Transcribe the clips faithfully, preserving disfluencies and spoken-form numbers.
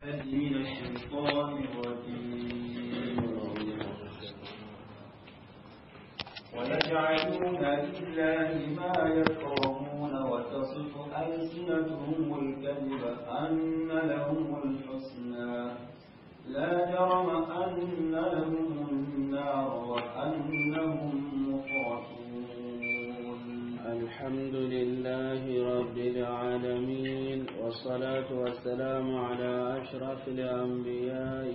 من الشيطان الرجيم. ويجعلون لله ما يكرهون وتصف ألسنتهم الكذب أن لهم الحسنى لا جرم أن لهم النار وأنهم مفرطون. الحمد لله رب العالمين، والصلاة والسلام على أشرف الأنبياء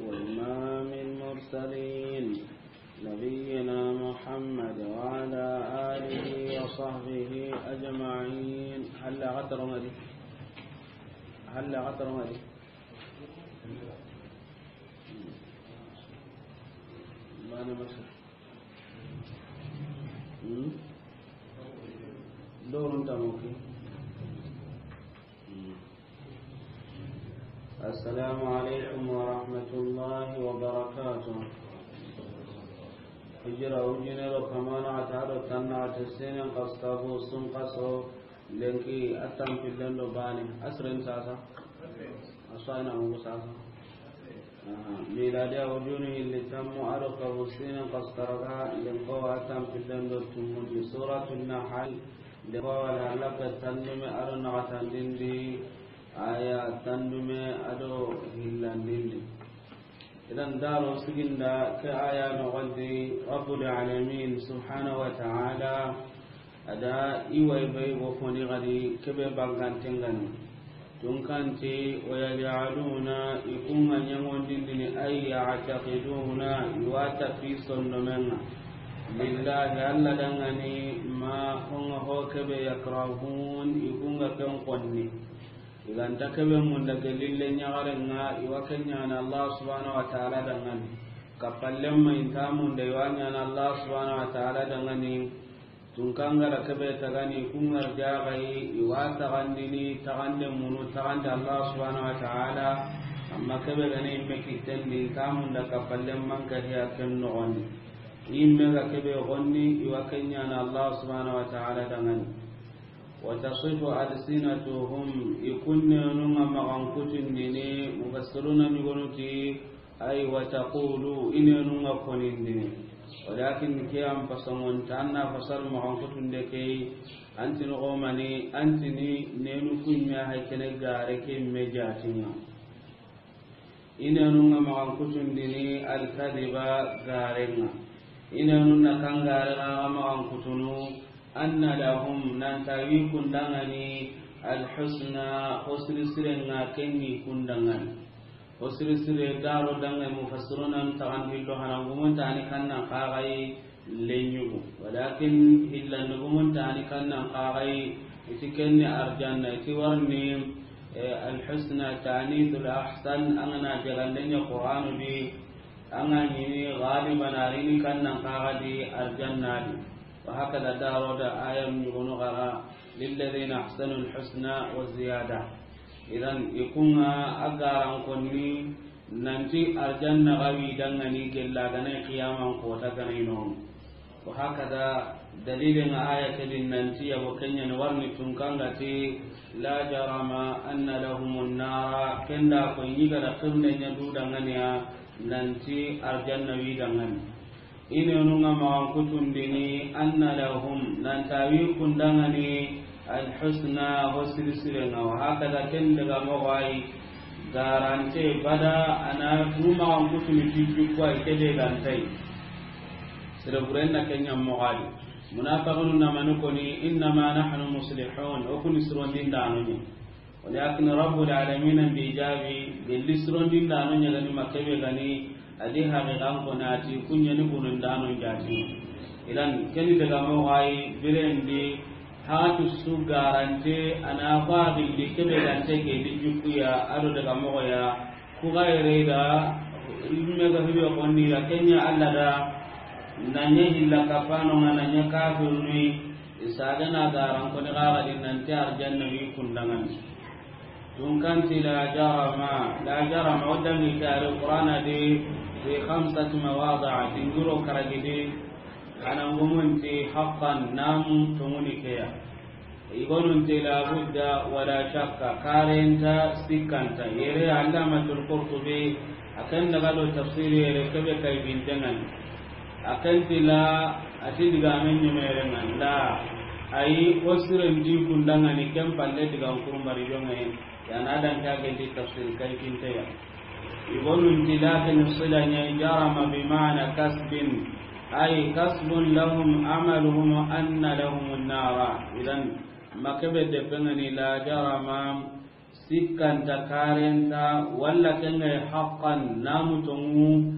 وإمام المرسلين، نبينا محمد وعلى آله وصحبه أجمعين. هل غتر مدي؟ هل غتر مدي؟ Bana masa. Hmm? Dorun tamoki. Hmm. السلام عليكم ورحمة الله وبركاته. Hijira ujine do kamana ata do tanna ata senen kasu tabu sun kaso. Lenki a tanpillen do bane, a siren sasa? A su a yi na mugu sasa. Aha, miladiya ujunu hilli tammu a do kabu sinen kasu taraga, lenko a tanpillen do tummundi. Suratu Nahal, lenko a wala halaka tandume a do naxatandindi, aya tandume a do hillandindi. Idan daro siginda ke aya noxondi, Rabbul Alamin subhanahu wa ta'ala a da i way bay go foni gadi kebe bankanten gani. Tunkanti, ويجعلون, i kunga ɲangondindini, أي يعتقدون, i wa tapi sondomenga, لله, Alla dangani, ما, honga ho kebe, يكرهون, i kunga ken konni. I ga nta kebe munda gelli le ɲaxarenga, i wa ken ɲana Allah subhanahu wa ta'ala dangani. Kappallen ma i nta munda, i wa ɲana Allah subhanahu wa ta'ala dangani. Tunkangara kebe tagani, kungar jaxayi, i wa taxandini, taxande munu, taxande Allah subhanahu wa ta'ala. Amma kebe gani imme kittendi, i nta munda kappallen manka hiya ken noxondi. Imme ga kebe gonni, i wa ken ɲana Allah subhanahu wa ta'ala dangani. وتصف ألسنتهم, i kunnenunga maxan kutundini, mufassiruna ɲugonuti, أي وتقول, i nenunga konindini. ولكن ke an pasongonta, an na fasar maxan kutunde kei, antini xomani, antini nenu kunya hay kene gare ke me jatinga. I nenunga maxan kutundini الكذب, garenga. I nenunna kan gare ga maxan kutunu, أن لهم, nanta wi kundangani, الحسنى, hosiri sirenga kenni kundangani. Hosiri sire daro dangani mufassiruna taxandillo hanangumuntani kannan kaxayi, lenyugu. Walakin hillandugumun tani kannan kaxayi, iti kenni arjanna, iti warni, eh, alhusna tanithul ahsan, angana jagandenya Qur'anu di, anga ɲini galiban arini kannan kaxadi arjanna di. Wa hakada daro da ayam ɲugunu xara, للذين أحسنوا الحسنى وزيادة. Idan, i kunga a garan konni nanti arjanna ga wi dangani gella gana qiyaman kota gana ino. Wa hakada dalilin aya kedin nanti yabo kenya ni warni tunkangati, لا جرم أن لهم النار, kenda ko yiga da qibne nya du danganiya nanti arjanna wi dangani. I nenunga maxan kutundini, أن لهم, nanta wi kundangani, الحسنى, ho sirisirenga. Wa hakada ken daga moxoyi, garante bada, ana du maxan kutuni tijju kuwa, i kede gantai. Sere burenna kenya moxadi. Munafiqunu namani koni, إنما نحن مصلحون, o kuni surondindano ni. Walakin Rabbul Alamin bi jabi, gelli surondindano ɲagani makkebe gani, adi haqiqan ko nati kunyani bunundano jati. Idan keni daga moxoyi birendi, hatu su garante, ana fadilli kebe gante ke di jukuya, ado daga moxoya, ku gaire da, imme ga hibe konni da, kenya Allah da, nanya hilla kapano nga nanya kafirni, isagana garan koni gaga di nanti arjanna wi kundangani. Tunkanti لا جرم, لا جرم, o dangi ke ari Qur'ana di fi khamsati mawadi'a, dingiro karagidi, hanangumunti haqqan, namu tonguni keya. I gonun ti la budda wala shakka, karenta sikkanta. Yere Allamatul Qurtubi, a ken daga do tafsiri yere kebe kay bintengan. A ken ti la, a ti digamen ɲumerengan la. Ayi, o siren di kundangani ken palle digan kurumbari jonge. Yana dan ka genti tafsir kay kinteya. I gonun ti lakin sila ɲa jarama bi ma'na kasbin. Ay kasbun lahum amaluhum anna lahumun nara. Idan, ma kebe depengani la jarama, sikkanta karenta, walla kengay haqqan namu tongu,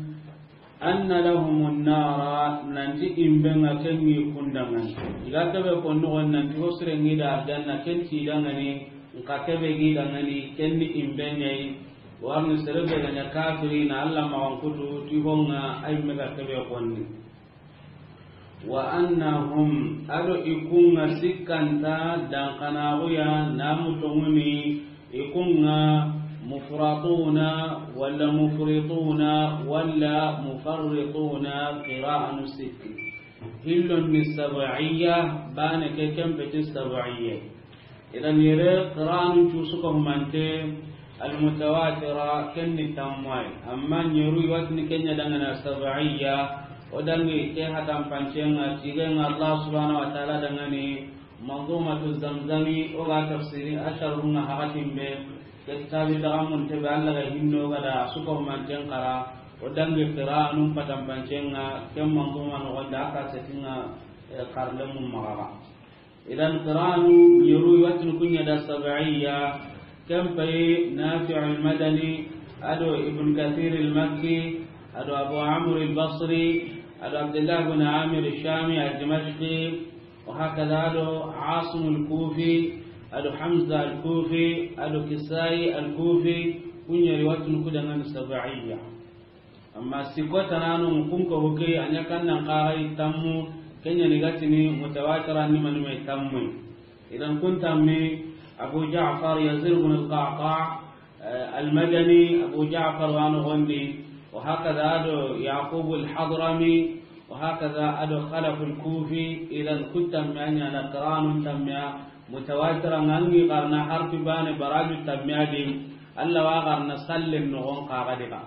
anna lahumun nara, nanti imbenga kengi kundangan. Iga kebe konnu gon nanti hosrengi da arjanna ken ti dangani, nka kebe gi dangani, kenni imbenyai. Warni serebe ganya kafiri na Allah mawan kutu, ti honga ay mega kebe konni. Wa annahum, ado ikunga sikkanta dankanaguya namu tonguni, ikunga mufratuna walla mufrituna walla mufarrituna, qira'anu sikki. Hillon ni sab'iyya, bane ke kempeti sab'iyya. Idan yere qira'anu cusu ko humante almutawatira kenni tammai. Amma nyeru watni kenya dangana sab'iyya, o dangi ke hatan pancenga, tigenga Allah subhanahu wa ta'ala dangani Manzumatu Zamzami, o ga tafsiri asharunga hakatimbe, ke kitabi dagamun tebe Allah ga hinno ga da suko manten kara, o dangi qira'anu patan pancenga, ken manzuma no gonda aka setinga, eh, karlemu magaga. Idan qira'anu nyeru watni kunya da sab'iyya, ken pay Nafi' al-Madani, ado Ibn Kathir al-Makki, ado Abu Amr al-Basri, ado Abdullah ibn Amir al-Shami al-Dimashqi, wa hakadha ado Asim al-Kufi, ado Hamza al-Kufi, ado Kisai al-Kufi, kunya riwatun kudangan sab'iyya. Amma siko tanano kun ko hukey anya kannan qarai tammu, kenya ni gatini mutawatira ni manime tammu. Idan kun tammi Abu Ja'far Yazid ibn al-Qa'qa', eh, al-Madani, Abu Ja'far wano gondi, wa hakadha ado Yaqub al-Hadrami, wa hakadha ado Khalaf al-Kufi. Idan kun tammi anya na qira'anu tammiya mutawatira ngangi qarna harfi bane baraju tammiya di, Allah wa qarna sallen no gon qaga diga.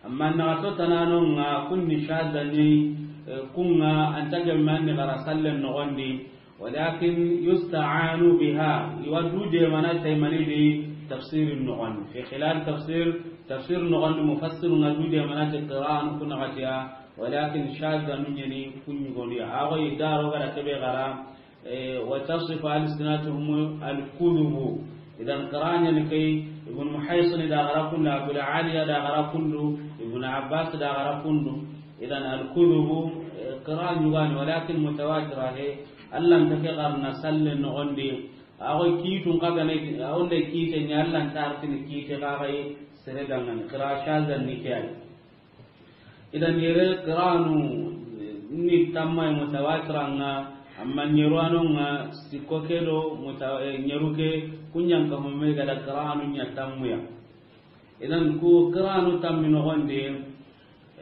Amma na to tanano nga kunni shadda ni, eh, kunga anta gemma ni gara sallen no gondi, walakin yusta'anu biha, iwa du de mana taymani di tafsirin no gondi. Fi khilal tafsir, tafsir no gondi mufassir nga du de mana te qira'an kuna gatiya, walakin shadda nu nyani kunni goni. Ago idaro gara kebe gara, eh, wa tasifu alsinatuhum al-kudhubu. Idan qira'an ni kay, Ibn Muhaysin da gara kundu, Abu Aliya da gara kundu, Ibn Abbas da gara kundu. Idan al-kudhubu, eh, qira'an yugani, walakin mutawatira he, Allah ta ke qarna sallen no gondi. Ago kitun kagane, ago nde kite nya Allah ta artini kite kagai sere dangan, qira'a shadda ni kiyai. Idan yere qira'anu ni tamma mutawatiranga, amma nyeru ano nga siko kedo muta-, eh, nyeru ke kunyan ka mume gada qira'anu nya tammuya. Idan ku qira'anu tammi no gonde,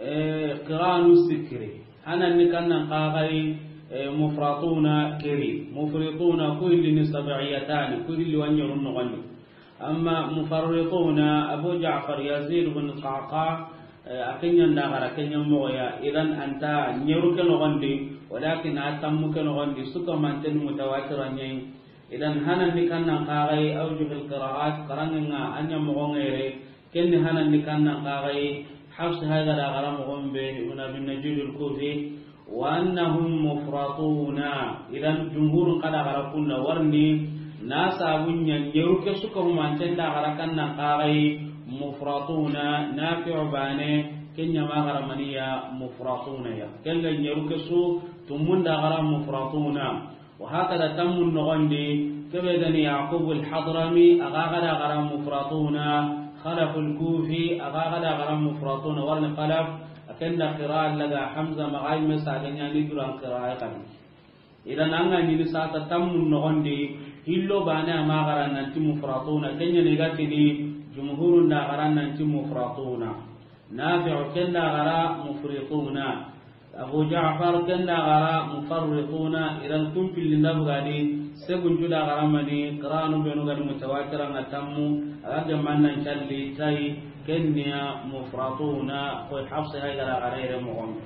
eh, qira'anu sikiri. Hanan ni kannan qagai, eh, mufratuna keri. Mufrituna ku illi ni sab'iyatani, ku illi wa nyeru no gonde. Amma mufarrituna, Abu Ja'far Yazid bin Qa'qa', eh, a kenyan da gara kenyan mogoya, idan anta nyeru ke no gondi, walakin a tammu ke no gondi, suka manten mutawatira nyai. Idan hanan ni kannan qagai awjuhul qira'at, qaranga anya mogo ngere, kenni hanan ni kannan qagai, Hafs haga da gara mogombe, Ibn Abi Najud al-Kufi, wa annahum mufratuna. Idan jumhurun kada gara kunna warni, na sabunya nyeru ke suka humanten da gara kannan qagai mufratuna, Nafi'u bane, kenya ma gara maniya mufratuna ya. Kenga nyeru ke su tumun da gara mufratuna. Wa hakada tammun no gondi, kebe gani Yaqub al-Hadrami, aga gada gara mufratuna, Khalaf al-Kufi, aga gada gara mufratuna, warni Khalaf, akenda qira'a laga Hamza magai mesa ganya ni duran qira'a kan. Idan anga ni sata tammun no gondi, hillo bane ama gara nanti mufratuna, kenya ni gatini, jumhurun da gara nanti mufratuna. Nafi'u kenda gara mufrituna. Abu Ja'far kenda gara mufarrituna, idan kun pillinda bugadi, Seguncu da xaramani, qiranu benu gani mutawatiranga tammu, a ga gemannan calli tay, kenniya mufratuna, koy Hafsa hay gara xara yere moxon.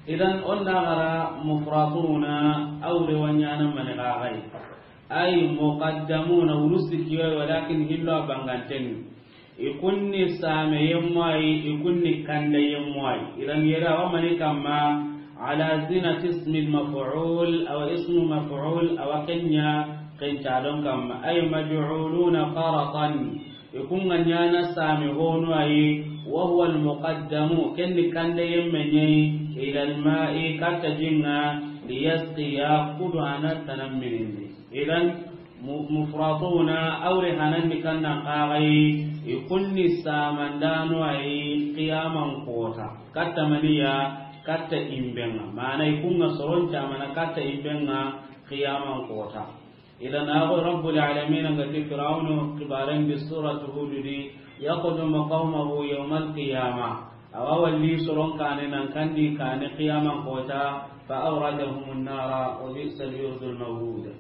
Idan, on da xara mufratuna, awre wanyana mani xaxay. Ay muqaddamuna, wuru sikkiyoy, walakin hillo a bangantenni. I kunni same yemmoyi, i kunni kande yemmoyi. Idan yere awa mani kamma, ala zinati ismi maf'ul, awa ismu maf'ul, awa kenya kencadon kamma. Ay maj'uluna faratan. I kunga nyana same honu ayi, wa huwa almuqaddamu, kenni kande yemme nyi, ila alma'i, katta jinga, liyasqiya, kudu ana tanamminindi. Idan, mu-, mufratuna, awre hanandi kannan xaxayi, i kunni samandano ayi qiyaman kota. Katta maniya, katta imbenga. Mana i kunga soron camana katta imbenga qiyaman kota. Idan, ago Rabbul Alamin nga ti Firawnu kibaren di suratu Hud di, yaqdumu qawmahu yawmal qiyamah. Awa walli soron kane nan kandi kane qiyaman kota, fa awradahum an-nara wa bi'sa al-wirdu al-mawrud.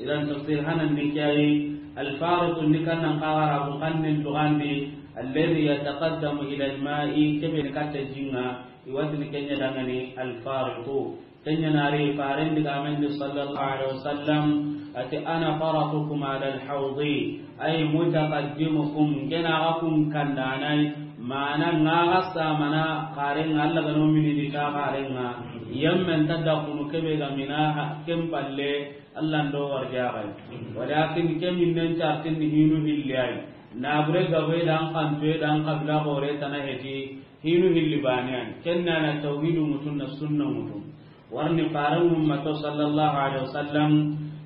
Idan tafsir hanan ni kiyayi, al-fariqu ni kannan xaxara bu kannen tugandi, alladhi yataqaddamu ila al-ma'i, kebe ni katta jinga, iwatini kenya dangani al-fariqu. Kenya nari faren digamendi sallallahu alaihi wasallam, ati ana faratukum ala al-hawdi, ay mutaqaddimukum, kena ga kun kandanai, mana nga ga samana xarenga, Allah gano mini di ka xarenga, yemmen tadda kunu kebe ga mina ha-, ken palle, Allah ndo warjaxay. Walakin ke minnen cartin ni hinu hilli ay. Nabure gabe dan kantoye dan kabila gore tana heti, hinu hilli baniyan. Kenna na tawhidu mutun na sunna mutun. Warni faran ummato sallallahu alaihi wasallam,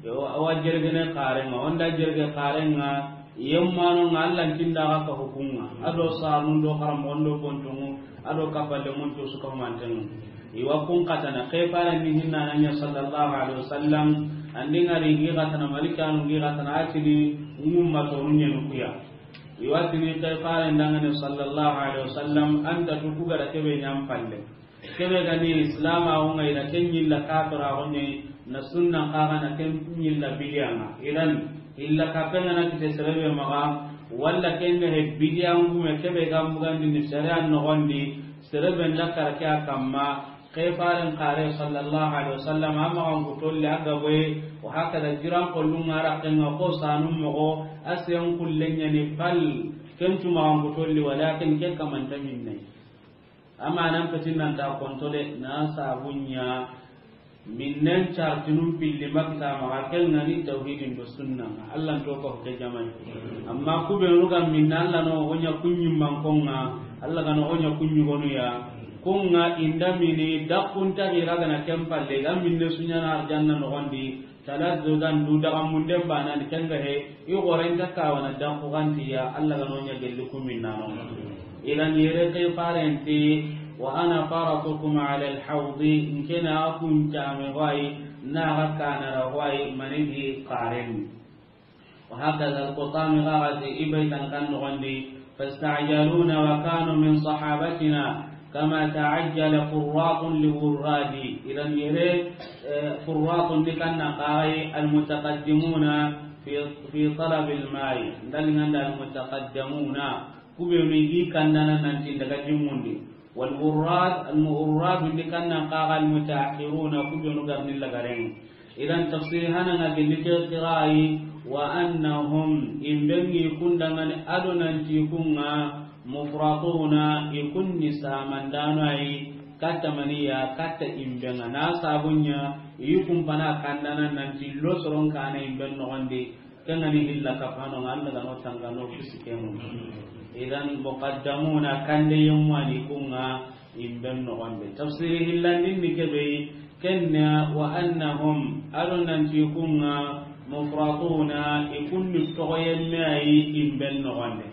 yo, awa jergene xarenga, onda jerge xarenga, yemmano nga Allah tinda ga ka hukunga, ado sarun do xaram ondo bontungu, ado kapalle mun to suka mantengu. Iwa kun katana, ke faran ni hinna nanya sallallahu alaihi wasallam, andi ngari ngi katana malikanu ngi katana atini ngumma to nunyenu kuya. Iwa tini ke faran dangane sallallahu alaihi wasallam, anta tuku gara kebe nyam palle. Kebe gani Islam a wonga ina ken yilla kafira wonye na sunna kaga na ken yilla bidiyanga. Idan illa kapena na kite serebe maga, walla ken he bidiyangu me kebe gambu gandi ni sharia no gondi, serebe ndakara kya kamma, ke faren kare sallallahu alaihi wasallam, amma an kutolli aga boy, wa hakada jiran kollun ara kenga ko sanum mogo, asiyan kullenya ni pal, ken tuma an kutolli, walakin ke kamanta minne. Amma nan petin nan ta kontole, na sabunya, minnen cartinun pilli makta maga, ken ngani tawhidin do sunna. Allah to ko ke jamai. Amma ku be ruga minna Allah no onya kunyi mankonga, Allah gano onya kunyi gonuya. Kunga inda mini dakunta hira gana kempalle, ga minne sunya na arjanna no gondi. Talazzudan, du daga munden bana ni kenga he, i gorenta kawana dan kugantiya, Allah ga nonya gelli kuminnano. Idan yere ke farenti, wa ana faratukum ala al-hawdi, nkena kun tame wai, na ga kanara wai, manigi karen. Wa hakada al-qutami gagati ibai tan kan nogondi, فاستعجلونا وكانوا من صحابتنا كما تعجل فراط لوراد. Idan yere, eh, furratun di kanna kagai al-mutaqaddimuna fi, fi talab al-ma'i. Ndali nganda al-mutaqaddimuna. Kubenu i kannana nanti daga jimundi. Wal wurrad, al-mu'urrad di kanna kaga al-mutaakhiruna, kubenu garni lagaren. Idan tafsiri hananga gelli ke qira'i, wa annahum, imbengi kundangani ado nanti kunga mufratuna, ikunni samandano ayi, katta maniya, katta imbenga. Na sabunya, ikumpana kandana nanti lo soron kana imben nogondi, kengani hilla kapano nga Allah gano tangano kisikemu. Idan muqaddamuna kande yemmani kunga, imben nogonde. Tafsiri hillandin ni kebe, kenna wa annahum, ado nanti kunga mufratuna, ikunni togoyemme ayi imben nogonde.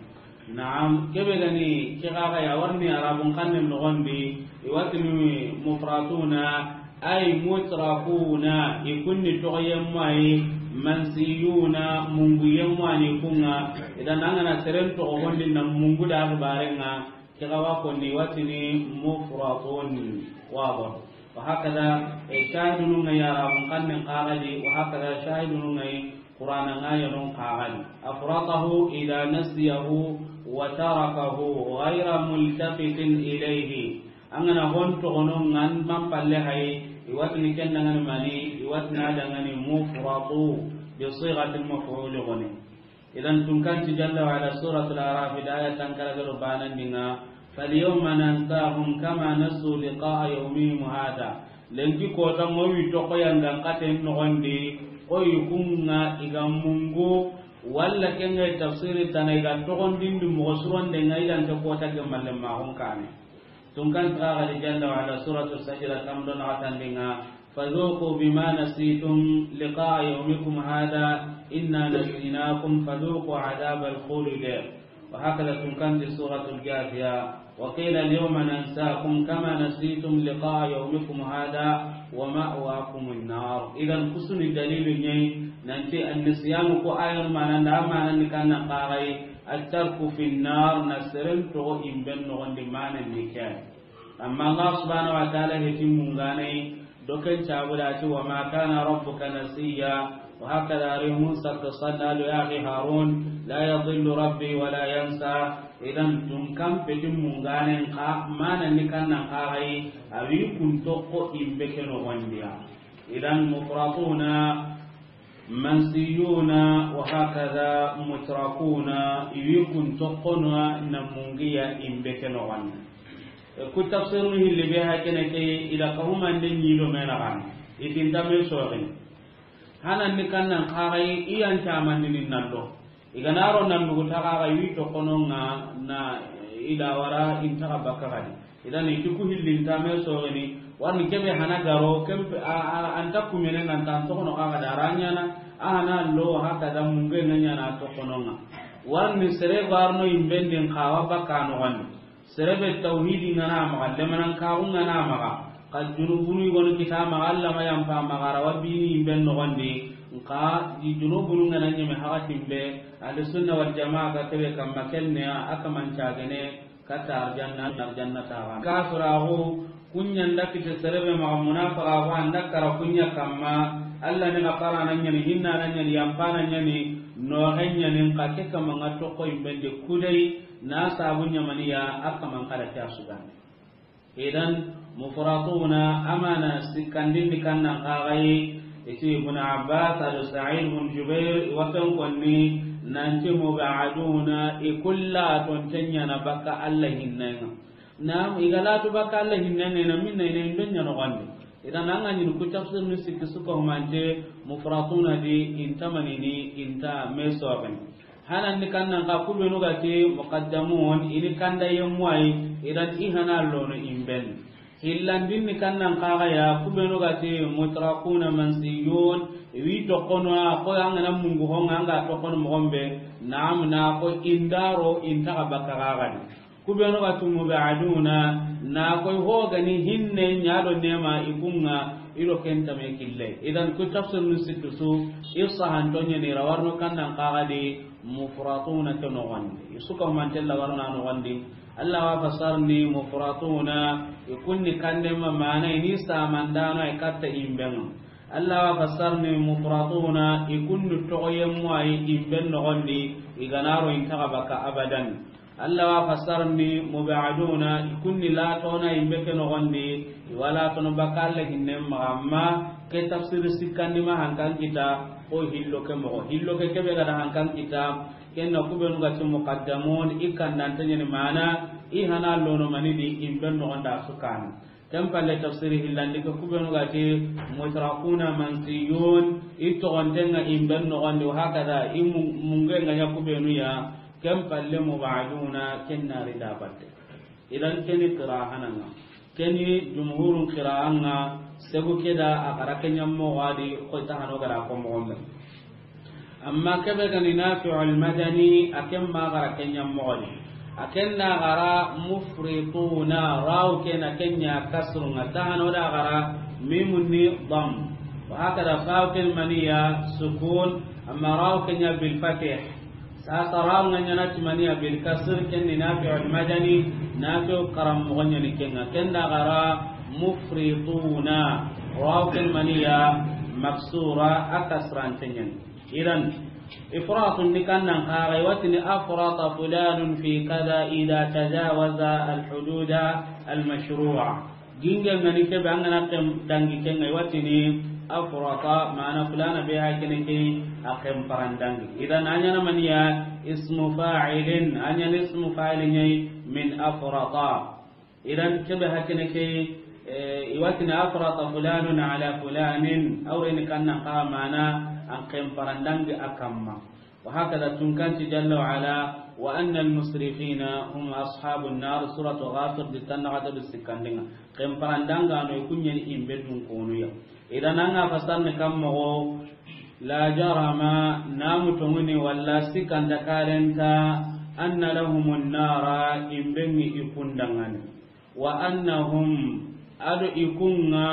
Naam, kebe gani, ke gaga ya warni arabun kannen nogondi, iwatini mufratuna, ay mutrakuna, ikunni togoyemme ayi, mansiyuna, munguyemme ani kunga, idan angana seren togogondi na mungu da barenga, Ke ga wa konni watini mufratun. Wado. Wa hakada, e, shahidunu ŋa ya Arabun xannen xaxadi, wa hakada shahidunu ŋa yi Qur'ana ŋa ya non xaxadi. Afratahu idha nasiyahu wa tarakahu ghayra multafitin ilayhi. An ga na hon toxono ŋa an man palle hayi, i wa tini ken da ŋa ni mani, i wa tini a da ŋa ni mufratu, bi sighatil maf'ul goni. Idan tunkanti jalla wa ala suratul Araf da aya tankara garo banan dinga, "Falyawma nansahum kama nasu liqa'a yawmihim hadha." Lenki kota mo wi to ko yanga katen no gondi, ko yi kunga iga mungu, walla kenga tafsiri tana iga to gondin di mo suron de ngai dan to kota gemalle ma hon kane. Tunkan taga di jalla wa ala suratul Sajda tamdo na tandinga, "Fadhuqu bima nasitum liqa'a yawmikum hadha, inna nasinakum fadhuqu adhabal khuldi." Wa hakada tunkan di suratul Jafiya, "Wa qila al-yawma nansakum kama nasitum liqa'a yawmikum hadha, wa ma'wakumun nar." Idan kusuni dalilu nyai, nanti an-nisyanu ko ayan manan da manan ni kannan qarai, at-tarku fin nar, na seren to imben no gondi manan ni kyan. Amma Allah subhanahu wa ta'ala heti mungane, doken cabula ti, "Wa ma kana rabbuka nasiya." Wa hakada rimun sakka sanna lo ya akhi Harun, "La yadhillu rabbi wa la yansa." Idan tun kan peti mungane ka mana ni kannan qarai, awi kun tokko imbe ke no gondiya. Idan mufratuna, mansiyuna, wa hakada mutrakuna, iwi kun tokko no na mungiya imbe ke no gondi. E, ku tafsirunu hilli be hakene ke ila kahumande nyido mena kan. Itinta me soxin. Hanan ni kannan qarai iyan tamandini nando. Iganaro nandugu taga ga wi to kono nga na ila wara intaga bakka gadi. Idan iti ku hillin tame sogeni warni kebe hana garo kempe a, a, anta kumene nga tan to kono kaga daranyana a hana lo haka da munge nga nyana to kono nga. Warni sere garno imbendin kawa bakka no wani. Serebe tawhidi ngana maga, lemanan kaxu ngana maga, xa junubunu yigonu kita maga, Allah ma yampa maga, rawa bini yimben noxondi, nxa di junubunu ngana ñeme haxatin be, Ahlu Sunna wal Jamaa ga kebe kamma kenne, a kaman cagene, katta arjanna, arjanna taxa. Kafiraxu, kuña nda kite serebe maga, munafaxaxu, anda kara kuña kamma, Allah ni xafarana ñani, hinnana ñani, yampana ñani, noxe ñani, nxa ke kamma nga toxo yimben de kudey, na sabu ñamaniya a kaman kada ke a sugandi. Idan, mufratuna amana sikkandindi kannan kaxayi, iti Ibn Abbas ado Sa'id bin Jubair, i wa ken konni, nanti mubaduna, i kulla tonten ñana bakka Allah hinnenga. Nam, i ga latu bakka Allah hinnenga, na minna ina indo ña noxondi. Idan, an ga ñini ku tafsir ni sikki suka humante, mufratuna di, inta manini, inta me soxen. Hanan ni kannan ka kubenu ga ti muqaddamun, ini kanda yemmu ay, idan i hana lono imben. Hillandin ni kannan ka ga ya, kubenu ga ti mutrakuna mansiyun, wi tokono a, ko an ga na mungu honga, an ga tokono mogombe, naam na ko indaro, inta ga bakka ga gadi. Kubenu ga tu mubaduna, na koy hogani hinne ñado nema ikunga, ido kentame kille. Idan ku tafsir nu sittu su, i sahanto ñani rawarno kannan kaxadi mufratuna ke noxondi. I suka humantella warna noxondi. Allah wa fasarni mufratuna, i kunni kandema mana ini samandano ay katta imbenga. Allah wa fasarni mufratuna, i kunni toxoyemmu ay imben noxondi, i ganaro intaxa baka abadan. Allah wa fasarni mubaduna, i kunni latona imbe ke noxondi, i wa latono baka Allah hinnen maxa, amma ke tafsiri sikkandi ma hankan kita, ko hillo ke moxo. Hillo ke kebe gada hankan kita, kenna kubenu ga ti muqaddamun, i kandanta ñani mana, i hana lono manidi, imben noxonda sukana. Ken palle tafsiri hillandi ke kubenu ga ti mutrakuna mansiyun, i toxontenga imben noxondi, wa hakada, i mu-, mungenga ña kubenu ya, ken palle mubaduna, ken nari da batte. Idan keni qirahananga. Keni jumhurun qiraanga, segu keda a gara kenya moxo adi, koy tahano gara ko moxombe. Amma kebe gani Nafi'ul Madani, a ken ma gara kenya moxo di. A ken na gara mufrituna, raw ken a kenya kasrunga, tahano da gara mimun ni dam. Wa hakada faw ken maniya sukun, amma raw kenya bil fatih. Sasa raw nga ñana timaniya bil kasr, ken ni Nafi'ul Madani, Nafi'u karam moxo ñani kenga. Ken da gara Mufrituna, waw ken maniya maksura, a kasrante ñani. Idan, ifratun ni kannan kaga, i wa tini afrata fulanun fi kada ida tajawaza alhududa almashru'a. Ginge ngani kebe an ga na ken dangi ken ŋa, i wa tini afrata, mana fulana be hakene ke a ken parandangi. Idan, a ñana maniya ismu fa'ilin, a ñana ismu fa'ilin ñayi min afrata. Idan kebe hakene ke, eh, i wa tini afrata fulanun ala fulanin, awreni kannan kaga mana an ken parandangi a kamma. Wa hakada tunkanti jalla wa ala, wa anna almusrifina hum ashabun nar, suratu Ghafir, di tanna gata du sikkandinga. Ken parandanga no i ku ñani imbe dun konuya. Idan an ga fasarni kamma go, la jarama, namu tonguni walla sikkanta karenta, anna lahumun nara, imbe ŋi i kundangani. Wa annahum, ado i ku ŋa,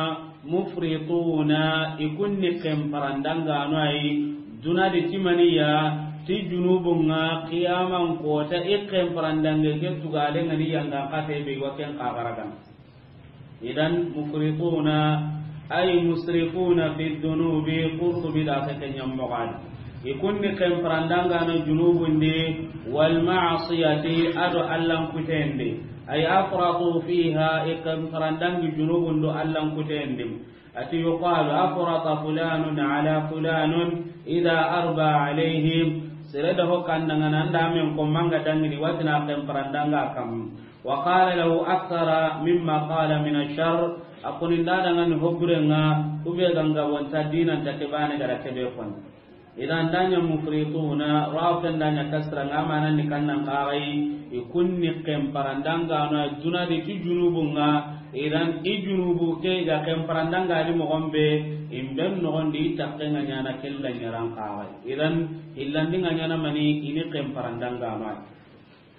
mufrituna, i ku ni ken parandangano ayi, duna di ti maniya, ti junubun ŋa, qiyaman kota, i ken parandange ke tugale ŋa ni yanga kate be wa ken kagaragan. Idan mufrituna, ay musrifuna fi dhunubi, Qurtubi da ke ken ñammoxadi. I ku ni ken parandangano junubun di, wal ma'siyati, ado Allan kutendi. Ay afratu fiha, i ken parandangi junubun do Allan kutendi. Ati yuqalu afrata fulanun ala fulanun ida arba alayhim. Sere da ho kandangana anda men ko manga dangini watina ken parandanga kam. Wa qala lahu akthara mimma qala min ash-sharr. A koni nda dangani hoburenga, kube ganga wanta dinanta ke bane gara kebe kon. Idan da ña mufrituna, raw ken da ña kasra nga mana ni kannan kagai, i ku ni ken parandangano duna di ti junubun ŋa. Idan i junubu ke ga ken parandanga di moxon be, imben noxon di i takke nga ñana kella ñaran kagai. Idan hillandi nga ñana mani i ni ken parandangano.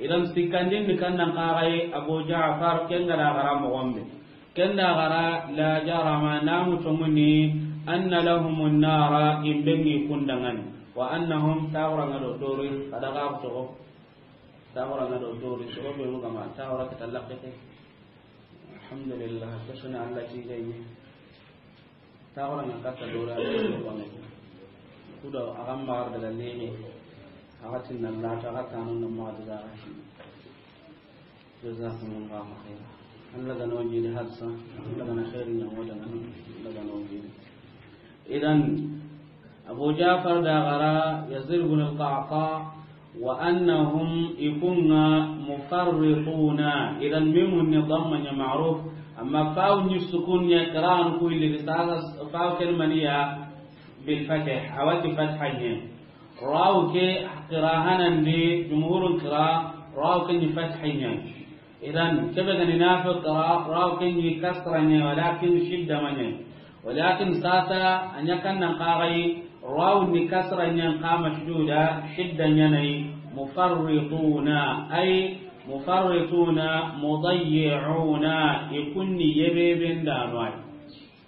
Idan sikkandin ni kannan kagai Abu Ja'far ken ga da gara moxon be. Ken da gara la jarama namu tonguni anna lahumun nara imbe ŋi kundangani. Wa annahum tagura nga do dori adaga togo. Tagura nga do dori sogo be mu gama tagura kita lakkete. Alhamdulillah, kesuna Allah ti gayni. Tagora na katta dora ne. Kudo a ga magar daga neme. A ga tinna la ta ga tanu na ma daga. Jazakumullahu khaira. Allah ga no jidi hadsa, Allah ga na khairin ya wada nan, Allah ga no jidi. Idan Abu Ja'far da gara Yazid ibn al-Qa'qa' wa annahum i ku ŋa mufarrituna. Idan mimun ni damma ña ma'ruf, amma faw ni sukun ña qira'an ku illi sasa faw ken maniya bil fath, a wa ti fatha ña. Raw ke qira hanandi jumhurun qira, raw ke ni fatha ña. Idan kebe gani nafi qira, raw ke ni kasra ña, walakin shidda ma ña. Walakin sasa a ña kannan kagai, raw ni kasra ñan ka mashduda, shidda ñanai, mufarrituna, ay mufarrituna, mudayyi'una, i ku ni yebeben dano ay.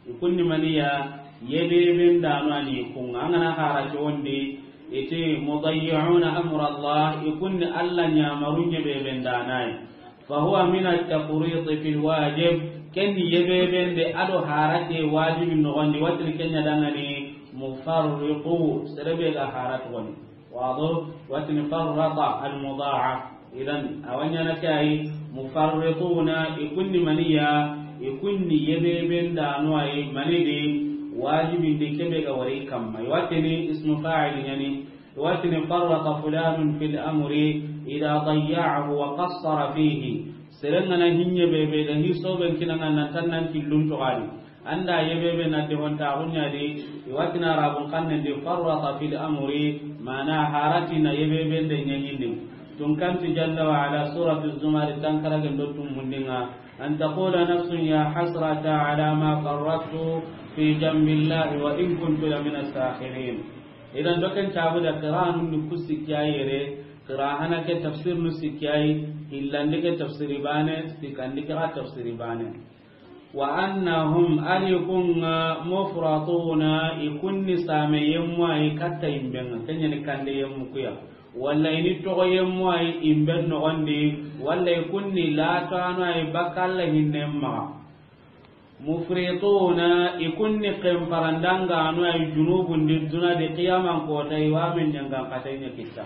I ku ni maniya yebeben dano ani i ku ŋa. An ga na hara ke wondi, iti mudayyi'una amra Allah, i ku ni Allah ñamarun yebeben dano ay. Fa huwa min at-tafriq fi al-wajib, ken yebeben de ado harate wajibin noxon di, wa tini ken ña dangani mufarriqu, sere be ga harate woni. Wado, wa tini farrata al-mudha'af. Idan a wa ñana ke ay mufarrituna, i ku ni maniya, i ku ni yebeben dano ay mani di, wajibin di kebe ga wari kamma. I wa tini ismu fa'il ñani, Watini farrata fulanun fil amri idha dayya'ahu wa qassara fihi. Seren ga na hiñe be be da hi soben kinanga nan tan nan killun to gadi. Anda yebe be na de honta gunya de, i watini arabun kannen de farrata fil amri, mana harati na yebe be de ñañindi. Tun kanti jalla wa ala suratu Zumar tankara gendo tum mundinga. An taqula nafsun ya hasrata ala ma farrattu fi jambillahi wa in kuntu lamina sakhirin. Idan doken tabu da qira'anun ni ku sikki a yere, qira'a hana ke tafsir nu sikki a yi, hillandi ke tafsiri bane, sikandi ke ga tafsiri bane. Wa annahum, ari ku nga, mufratuna, i ku ni same yemmu a yi katta imben ŋa, ken ña ni kande yemmu ku ya. Walla i ni toxo yemmu a yi imben noxon di, walla i ku ni latanu a yi bakka Alla hinnen maxa. Mufrituna, i kunni xenparandangano ay junubun di duna di qiyaman kota, i wa men ñangan xatay ña kitta.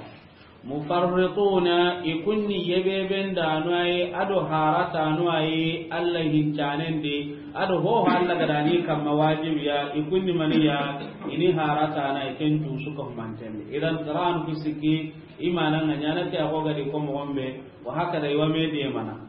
Mufarrituna, i kunni yebebendano ay, ado haratano ay, Allah hincanen di, ado hoho Allah gadani kamma wajibiya, i kunni maniya, ini haratana, i ken cusu ka humanten di. Idan Qur'an ku sikki, imana nga ñana ke ago gadi ko mo gombe, wa hakada i wa me de mana.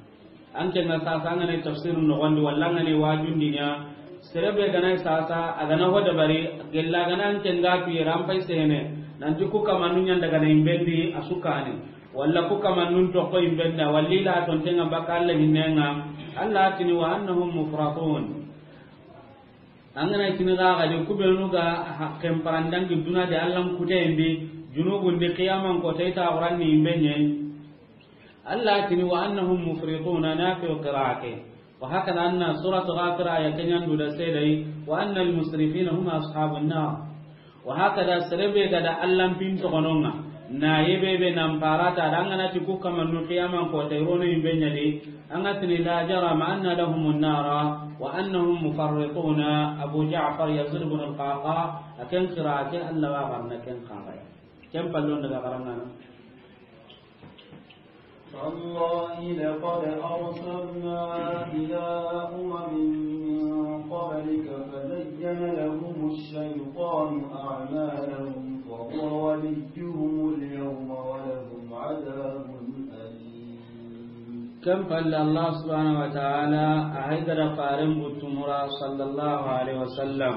An ke nga sasa an ga na tafsir noxon di, walla an ga na wajun di ña, sere be ga na sasa, a ga na ho dabari, gella ga na an ke nga tu yere an pay sene, nanti ku kamanun ñan daga na imbendi a su kane, walla ku kamanun toxo imbendi, walla i la tonten nga baka Allah hinnenga, Allah tini wa annahum mufratun. An ga na tini ga ga de ku benu ga ha-, xenparandangi duna de Allah kutendi, junubun di qiyaman kota i ta Qur'an ni imbenye. Allah tini wa annahum mufrituna, Nafi'u qira'ati. Wa hakada anna surat Ghafir aya kenyan du da sedai, wa annal musrifina hum ashabun nar. Wa hakada sere be ga da Allah pin toxononga, na yebebe nan parata, da an ga na ti ku kamanun qiyaman kota i rono imbenyadi, an ga tini la jarama anna lahumun nara, wa annahum mufarrituna, Abu Ja'far Yazid ibn al-Qaqa, a ken qira'a ke Allah wa garna ken qira'a. Ken pallon daga garangana. تالله لقد أرسلنا إلى أمم من قبلك فزين لهم الشيطان أعمالهم فهو وليهم اليوم ولهم عذاب أليم. Ken palle Allah subhanahu wa ta'ala a haydara faren buttumura sallallahu alaihi wasallam.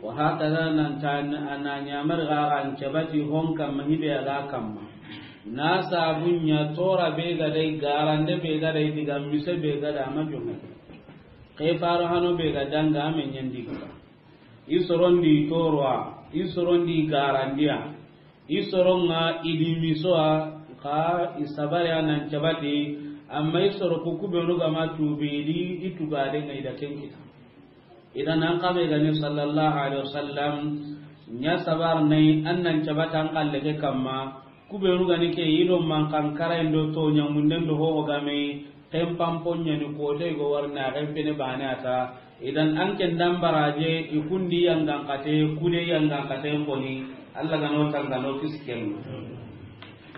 Wa hakada nan ta na ñamar ga an cabati hon kamma hibe a ga kamma. Na sabunya tora be ga dai, garande be ga dai, diga mise be ga da ma jonga. Ke faro hano be ga danga me ñandi ga. I sorondi torwa, i sorondi garandiya. I soronga i di misoa, ka i sabari a nan cabati, amma i soro ku kubenu ga ma tubi di, i tugade nga i da ken kita. Idan an kabe gani sallallahu alaihi wasallam, ña sabar nay an nan cabata an kalle ke kamma, kubenu gani ke i do man kan kara indo to ñamunden do ho game, ken pampon ñani kote go warna ken pene bane ata. Idan an ken dan baraje i kundi yangan kate, kude yangan kate koni, Allah gano tangano kisken.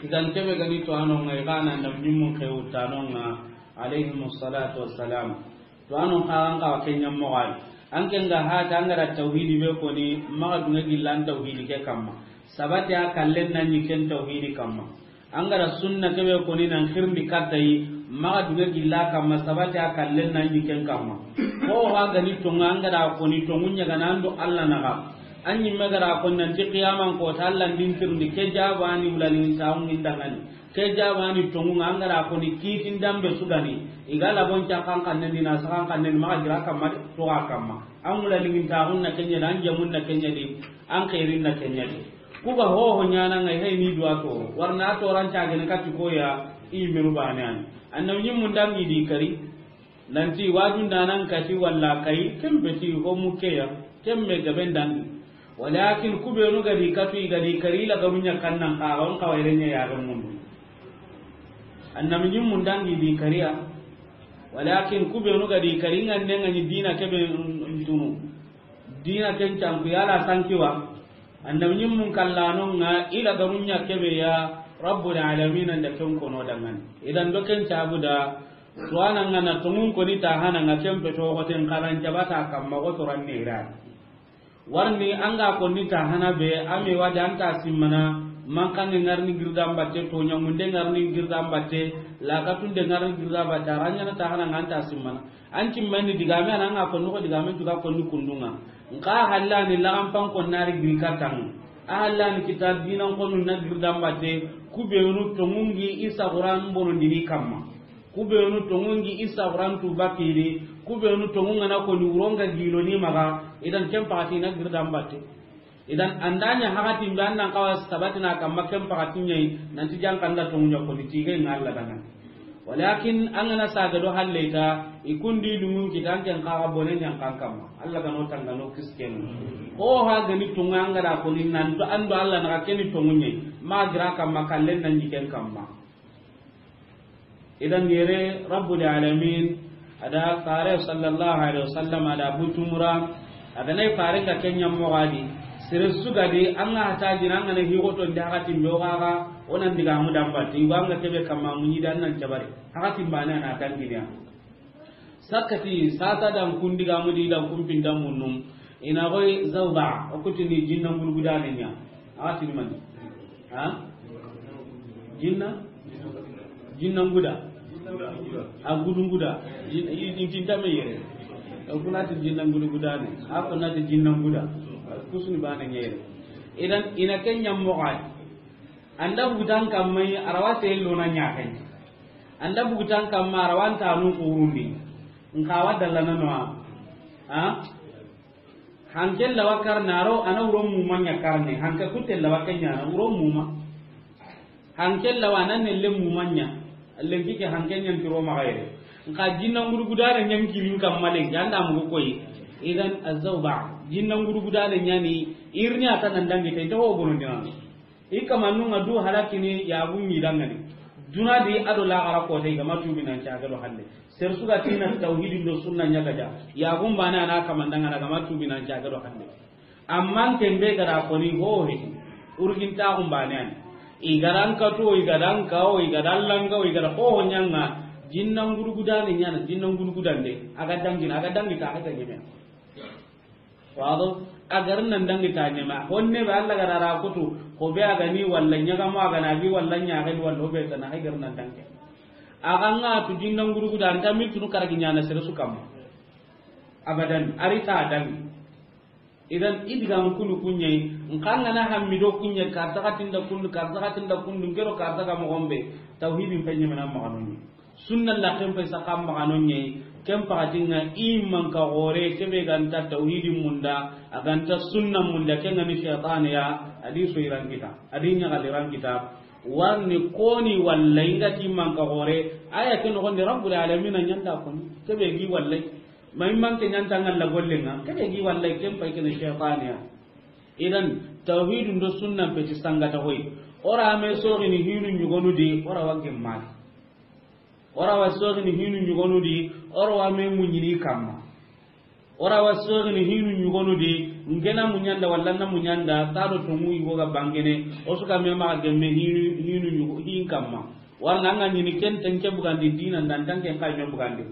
Idan kebe gani to anon ngai kana na ñimmun ke utanonga, alaihimus salatu wassalam. To anon ka an ka kenya mogal. An ken ga hata an ga da tauhidi be koni, maga dunga gillan tauhidi ke kamma. Sabati a kallen nan ñi ken tauhidi kamma. An ga da sunna kebe koni nan xirindi katta yi, maga dunga gilla kamma, sabati a kallen nan ñi ken kamma. Ko ha gani tonga an ga da koni tongu ñaga nan do Allah naga. An ñimme ga da koni nanti qiyaman kota Allah ndin tirindi ke jabani wulani tawun indangani. Ke jabani tongu nga an ga da koni kitin dambe sugani. I ga labon ca kan kannen di na sakan kannen maga gira kamma to ga kamma. An wulani ngin tawun na kenya di, an jamun na kenya di, an khairin na kenya di. Ku ga hoho ñana ngai hay ni duwa to. Warna to ran ca gene kati koya i menu bane an. Annabi ñimmun dangi di kari. Nanti wajun danan kati walla kai, kembe ti ho mukeya, kemme gaben dangi. Walakin kubenu gadi katu i gadi kari la garunya kannan ka on kawairenye ya ga mundu. Annabi ñimmun dangi di kariya. Walakin kubenu gadi kari ngande ngani dina kebe ntunu. Dina ken canku yala sankiwa. Annabi ñimmun kallanonga i la garunya kebe ya Rabbul Alamin anda ken kono dangani. Idan do ken cabuda, to ananga na tongun koni ta hananga kempe to goten karan cabata kamma go to ranne ira. Warni anga konni ta hana be, ame wadi anta simmana, mankange ngarni girdan batte, to ñamunde ngarni girdan batte, lakatunde ngarni girdan batte, aranyana ta hana nga anta simmana. An cimmani digame ana nga konni ko digame juga konni kundunga. Nka hallani lagan pan konnari giri katang. A hallani kitab dinan konu na girdan batte, kubenu tongungi isa Qur'an bono dini kamma. Kubenu tongungi isa Qur'an tu bakiri, kubenu tongunga na koni uronga gilo ni maga, idan ken pakati na girdan batte. Idan andanya hakati mbe annan kawa sabatina kamma ken pakati ñayi, nanti jankanda tonguña koni tige nga Allah dangani. Walakin angana saga do halleta, ikundi lungun kitan ken kaga bone ñan kan kamma. Allah gano tangano kisken. Ko ha gani tunga angara koni nanto ando Allah na keni tonguñe. Ma gira kamma kallen nan ñi ken kamma. Idan yere Rabbul Alamin, A da fare sallallahu alaihi wasallam, a da butumura, a ga na i fare ga kenya mogadi. Sere su ga di, an ga hata jina, an ga na higoto ndi hakatin be o ga ga, o nan diga mu damba, ti wa an ga kebe kamma munyi dan nan jabari. Hakatin bane na kan giniya. Sakati sata dan kun diga mu di dan kun pinda munum. Ina goy zawba, o kutini jinna ngulgudane nya. Hakatin mani. Ha? Jinna? Jinna nguda. A gudu nguda. Jin-, i, i tinta me yere. O kuna ti jinna ngudu gudane. A kuna ti jinna nguda. Kusuni bane nyere. Idan ina kenya mogadi. Anda bugutan kamma yi, a rawa te lona nya kenya. Anda bugutan kamma, a rawa nta nu kurundi. Nka wa dallana no. Ha? Hanken lawa karne, a ro, a na wuro muma nya karne. Hanke kutte lawa kenya na wuro muma. Hanken lawa na nelle muma nya. Lenki ke hanken nya ntiro ma gaire. Nka jinna ngurgudane nya nkirin kamma lenki, anda mugo koyi. Idan azawba, jinna ngurgudane nya ni, irni ata nan dangi te, to ho bono dinan. I kamanun ŋa du halakini, yaxun ɲi dangani. Duna di a do laxara kote, i ga ma tubi nan caga do hande. Sere su ga ti na tawhidin do sunna ɲa gaja, yaxun bane a na kamandangana, a ga ma tubi nan caga do hande. Amma ken be ga da koni ho he, urgin taxun bane an. I ga da n kato, i ga da n kawo, i ga da n langa, i ga da hoho ɲa ŋa, jinna ngurgudane ɲa na, jinna ngurgudande, a ga dangina, a ga dangi ta, a ga ta ɲeme. Wado, a ga ri nan dangi ta ɲeme. Honne be Alla ga da ra kutu, ho be a ga ni walla ɲaga mo a ga na gi walla ɲa ga ni walla ho be ta na, a ga ri nan dangi. A ga ŋa tu jinna ngurguda, an ta mi tunu karagi ɲa na sere su kamma. Abadan, a ri ta dangi. Idan, i diga n kunu kuɲe, n xa ŋa na hammi do kuɲe, karta ga tinda kundu, karta ga tinda kundu, n ke do karta ga mo gombe, tawhidin pe ɲeme na ma ga no ɲi. Sunna la ken pe saka ma ga no ɲi, ken pakatinga i manka gore, ke be ga nta tawhidin munda, a ga nta sunna munda, ken ga ni shaytan ya, a di so iran kita, a di ɲagali ran kita, warni koni walla i ga ti manka gore, aya ken no gonde Rabbul Alamin a ɲa nda koni, ke be gi walla. Ma i manke ɲa nta ŋalla gollenga, ke be gi walla ken pay ken shaytaniya. Idan, tawhidun do sunna pe ti sangata hoy. O ra me sogini hinu ɲugonu di, o ra wa gemmani. O ra wa sogini hinu ɲugonu di, o ra wa me muɲini kamma. O ra wa sogini hinu ɲugonu di, n ke na muɲanda walla na muɲanda, ta do to mu yugo ga bangene, o su ga me ma gemme hinu, hinu ɲugo, hin kamma. Walla ŋa ɲini ken ten ke bugandi dina ndan tan ken kay me bugandi.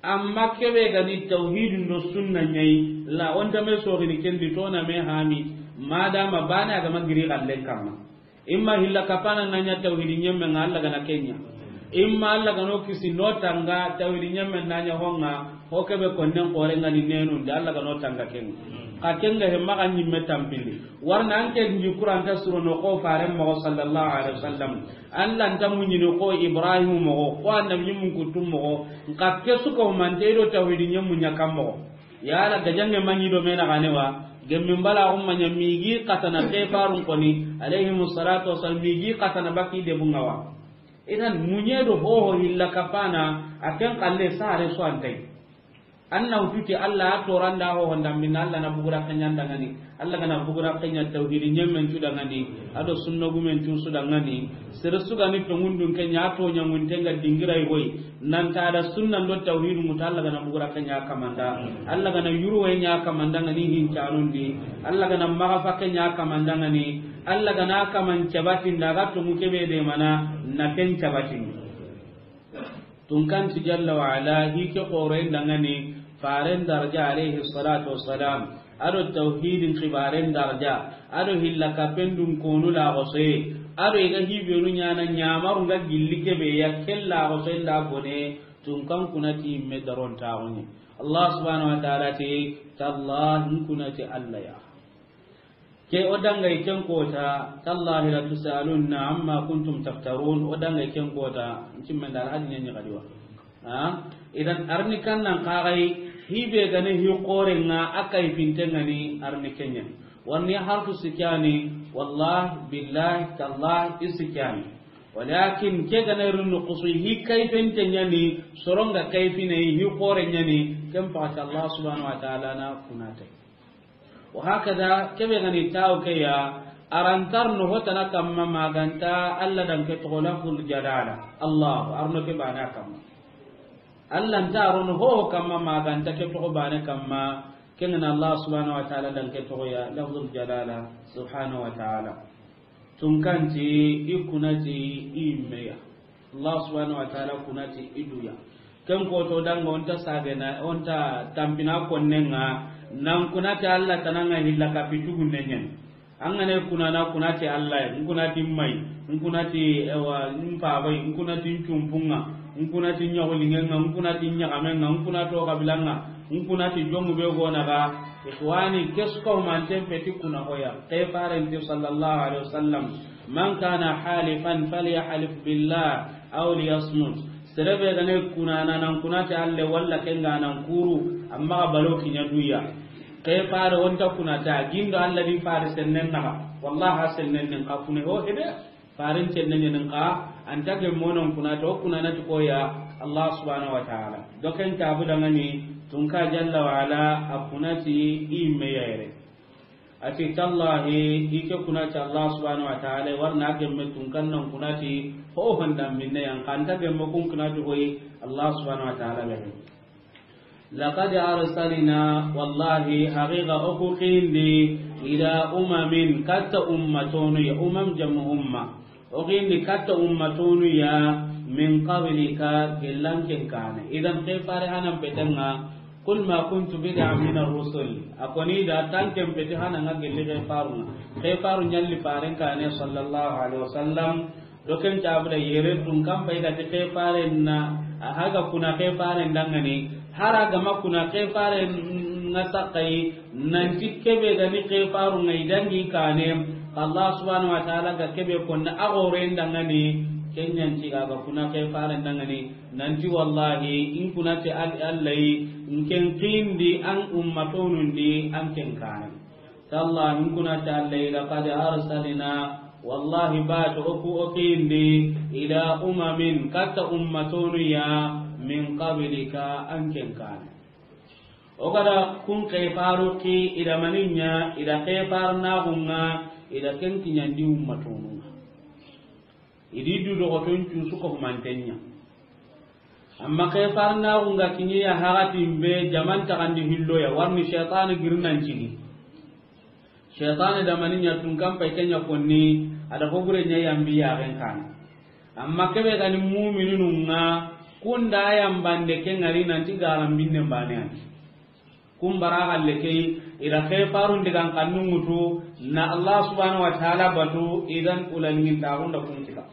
Amma ke be ga ni tawhidun do sunna ɲa yi, la o nta me sogini ken di to na me hami, madama bane a ga ma giri gallen kamma. Imma hilla kapana na ɲa tawhidi ɲemme ŋa Alla ga na ke ɲa. Imma Alla ga no kisi no tanga tawhidi ɲemme na ɲa ho ŋa, ho ke be konnen kore ŋa ni nenu nda Alla ga no tanga ken. Ka ken ga he ma ga ɲimme tampindi. Warna an ke nji Qur'an ta suro no ko fare mo sallallahu alaihi wasallam. Alla nta muɲini ko Ibrahim moxo, ko annabi ɲimmun kuttum moxo, nka ke su ko mante do tawhidi ɲemmu ɲa kam moxo. Yala gajange maɲi do mena gane wa, gemmin bala umma ɲa migi katana ke farun koni, alayhimu salatu wassalam, migi katana baki de bunga wa. Idan muɲe do hoho hilla kapana, a ken kalle sare so antai. An na wutu ti Alla a toranda ho honda minna Alla na bugura kanya ndangani. Alla ga na bugura kanya tawhidi ɲemmen cu dangani. A do sunna gumen cu su dangani. Sere su ga ni tongundun kenya to ɲangun tenga dingira i goy. Nan ta da sunna do tawhidu muta Alla ga na bugura kanya kamanda. Alla ga na yuru we ɲa kamanda ngani hin canundi. Alla ga na maga fa kanya kamanda ngani. Alla ga na kaman cabatin daga tongu kebe de mana na ken cabatin. Tunkanti jalla wa ala, hi ke xoroyen dangani, faren daraja alayhi salatu wassalam, a do tawhidin xibaren daraja, a do hilla kapendun konu la xosoye, a do i ga hibenu ɲana ɲamaru nga gilli kebe ya, ken la xosoye nda bone, tunkan kunati me daron taxuni. Allah subhanahu wa ta'ala ti, tallahi kunati Allah ya. Ke o dangay ken kota, tallahi la tusalunna amma kuntum taftarun, o dangay ken kota, ntimmen dal hadi nyen gadiwa. Ha? Idan arni kannan kagai, hibe gane hi qore nga akai fintengani arni kenyen. Warni harfu sikyani, wallahi, billahi, tallahi, isikyani. Walakin ke gane runu kusu hi kai fintengani, soronga kai fine hi qore nyani, ken pa Allah subhanahu wa ta'ala na kunate. Wa hakada, kebe gani taw ke ya, arantar no hotana kamma maganta, Allah dan ke togo laful jalala. Allah, arno ke bana kamma. Alla nta rono ho kamma ma ga nta ke toxo bane kamma. Ken ga na Allah subhanahu wa ta'ala dan ke toxo ya, lafzul jalala, subhanahu wa ta'ala. Tunkanti i kunati i meya. Allah subhanahu wa ta'ala kunati i duya. Ken ko to danga onta sagena, onta tampina konnenga, nan kunati Allah tananga hilla ka pitugu nenyen. An ga na kunana, kunati Allah, n kunati mai, n kunati ewa, n pabai, n kunati n cumpunga, n kunati nyaxulingenga, n kunati nyaxamenga, n kunati o kabilanga, n kunati jomu be gona ga. Ikhwani, kesko manten peti kuna hoya. Ke farenti sallallahu alaihi wasallam, man kana halifan falyahlif billah aw liyasmut. Serebe gane kunana nan kunati Allah walla kenga nan kuru, amma balo kinya duya. Ke fare onta kunata gindo Allah di fare sennen naga. Wallahi sennen nin ka kune ho hede. Faren sennen nin ka anta ge monon kunata o kunana ti koya Allah subhanahu wa ta'ala. Doken tabu dangani tunka jalla wa ala a kunati i meyere. Ati tallahi, i ke kunati Allah subhanahu wa ta'ala, warna gemme tunkan nan kunati ho honda minne yan kanta gemme kun kunati hoyi Allah subhanahu wa ta'ala be. Laqad arsalna, wallahi, haqiqa oku kindi, ila umamin, katta ummatonu ya, umam jamu umma. O kindi katta ummatonu ya, min qablika, gellanken kane. Idan ke fare hanan petenga, qul ma kuntu bid'an min ar-rusul. Akoni da tanken peti hananga gelli ke farunga. Ke faru nyalli faren kane sallallahu alaihi wasallam. Doken cabuda yere tun kan pai gati ke faren na, a haga kuna ke faren dangani, hara gama kuna ke faren nga sakai, nanti kebe gani ke faru ngai dangi kane, Allah subhanahu wa ta'ala ga kebe konna a gore dangani, kenyan ti ga kuna ke faren dangani, nanti wallahi, in kunati al-, allai, in ken kindi an ummatonundi an ken kane. Tallahi, in kunati Alla, laqad arsalna, wallahi, batu oku okindi, ila umamin, katta ummatonu ya, min qablika, an ken kane. O gada kun ke faru ki ida maninya, ida ke farnagunga, ida ken kinyandi ummatonunga. Idi du dogoton cusu ko humantenya. Amma ke farnaxu nga kiɲe ya haxatin be jaman taxandi hillo ya, warni shaytani girinan cigi. Shaytani damani ɲa tun kan pay ke ɲa konni, a da hogure ɲa yambi yaxen kane. Amma kebe gani mumininu nga, kunda yambande ke ngari nanti garan binne mbane ani. Kun bara galle ke, i da ke farun digan kannu ŋutu, na Allah subhanahu wa ta'ala batu, idan ulaningin taxunda kun kita.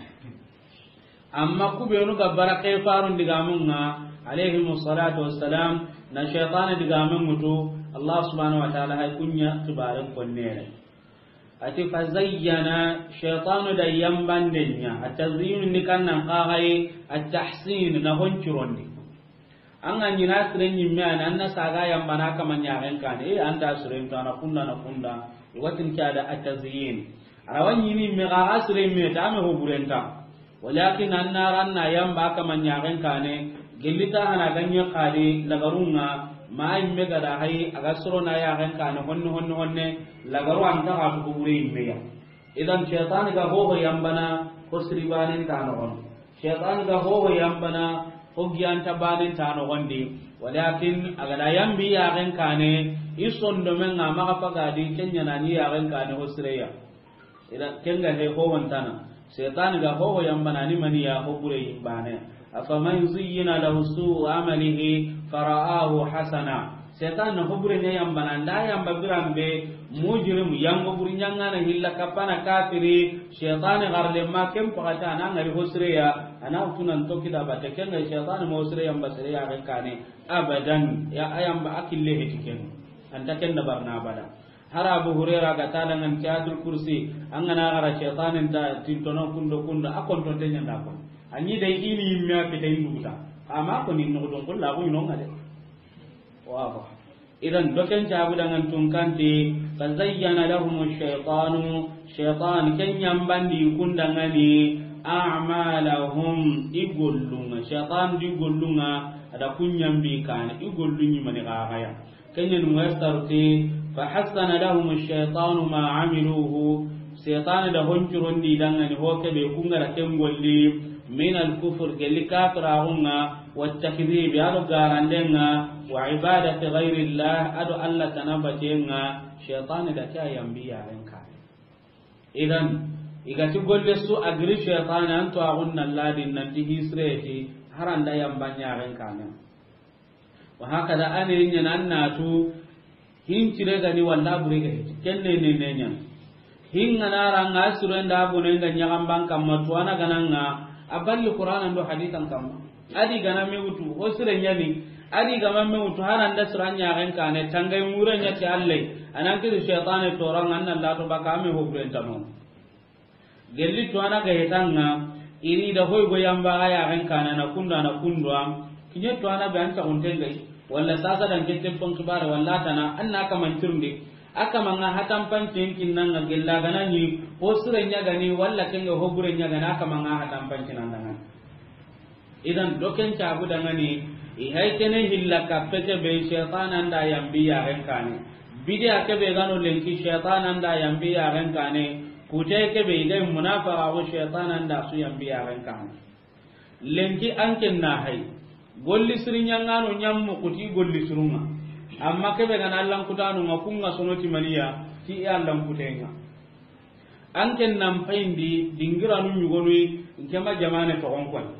Amma ku benu ga bara ke farun digamun nga, alayhimu salatu wassalam, na shaytani digamun ŋutu, Allah subhanahu wa ta'ala hay kunya kibaren konnere. Ati fa zayyana, shaytanu da yambanden ɲa, at-tazyinu ni kannan kaxay, at-tahsin na honcurondi. An ga ɲina siren ɲimme ani, an na saga yambana kama ɲaxen kane, e, an da siren to, a na kunda, a na kunda, i watin ke a da at-tazyin. A ra wa ɲini me ga, ga siren me ta, a me ho burenta. Walakin an na ran na yamba kama ɲaxen kane, gelli ta hana ga ɲe xadi, lagarunga, ma imme ga da hay, a ga soro na yaxen kane, honne, honne, honne, lagaru an ta ga tu ho bure imme ya. Idan shaytani ga hoho yambana, ho siri banen ta noxon. Shaytan ga hoho yambana, ho giyanta banen ta noxondi. Walakin a ga da yambi yaxen kane, i sondomen nga maxa pagadi, ken ɲa na ni yaxen kane ho sireya. Ida ken ga he ho wontana. Shaytan ga hoho yambana ni mani ya ho bure yimbane. Afaman zuyyina lahu su'u amalihi fara'ahu hasana. Shaytan na ho bure ɲa yambana, nda yamba biran be, mujrim, yango buri ɲangana hilla kapana kafiri, shaytan garle ma ken pakata na ngari ho sireya, a na tunan toki da bate ken ga shaytan mo sire yamba sire yaxen kane, abadan, ya ayamba akille heti ken. Anta ken da barna abada. Hara Abu Huraira ga ta dangan ke Ayatul Kursi, an ga na gara shaytanin ta tintono kundo kundo, a konton te ɲanda kon. Anyi dai ini yimme a kita induguta. Ama ko ni no don ko la ko ino ngade. Wa ba. Idan doken cabu dangan tun kanti, fa zayyana lahum ash-shaytanu, shaytan ken yambandi kundangani, a'malahum, i gollunga, shaytan di gollunga, a da kun yambi kane, i gollunyi mani gagaya. Kenyan muyassar ti, fa hassana lahum ash-shaytanu ma amiluhu, shaytan da honcurondi dangani ho kebe kungara ken golli, Min al-kufr, gelli kafiraxun ŋa, wa takdib, a do garanden ŋa, wa ibadati ghayri llah, a do Allah tana baten ŋa, shaytane da ke a yambi yaxen kaane. Idan, i ga ti golle su a giri shaytane, an to axun na ladin nanti hisreti, haranda yamba yaxen kaane. Wa hakada, a ne ɲana an na tu, hincire ga ni walla bure ga hiti. Kenne ne ne ɲana. Hinga na ra nga suro nda bone nga ɲaxamban kamma tuwana ga na nga, a balli Qur'ana ndo hadisan kamma. A di ga na me wutu, ho sire ɲani, a di ga ma me wutu, hana nda sura ɲaxen kaane, tangay mure ɲa ti Alla, a nan kiri shaytane tora nga, an na lato baka me ho bure ntano. Gelli tuwana ga hetan ŋa, i ri da hoy go yamba ga yaxen kaane na kunda na kundwa, kiɲe tuwana be an taxunten ŋa yi, walla sasa dan ke telefon kibare, walla tana, an na kaman tirndi, a kaman ŋa hatan pancin kinnan ŋa gella ga na ɲi, ho sire ɲa ga ni, walla ken ŋa ho bure ɲa ga ni, a kaman ŋa hatan pancin an da ŋa ni. Idan, do ken cabu dangani, i hay kene hilla kappe ke be, shaytanan da yambi yaxen kaane. Bidiya ke be ga no lenki, shaytanan da yambi yaxen kaane. Kute ke be, i ga munafaqa ko, shaytanan da su yambi yaxen kaane. Lenki an ken na hay. Golli siri ɲangano ɲammu kuti golli sirunga. Amma ke be ga na Allan kutanu nga, kunga sono ti maniya, ti i Allan kutenga. An ken nan payindi dingiranu ɲugonu, nke ma jamane toxon koni.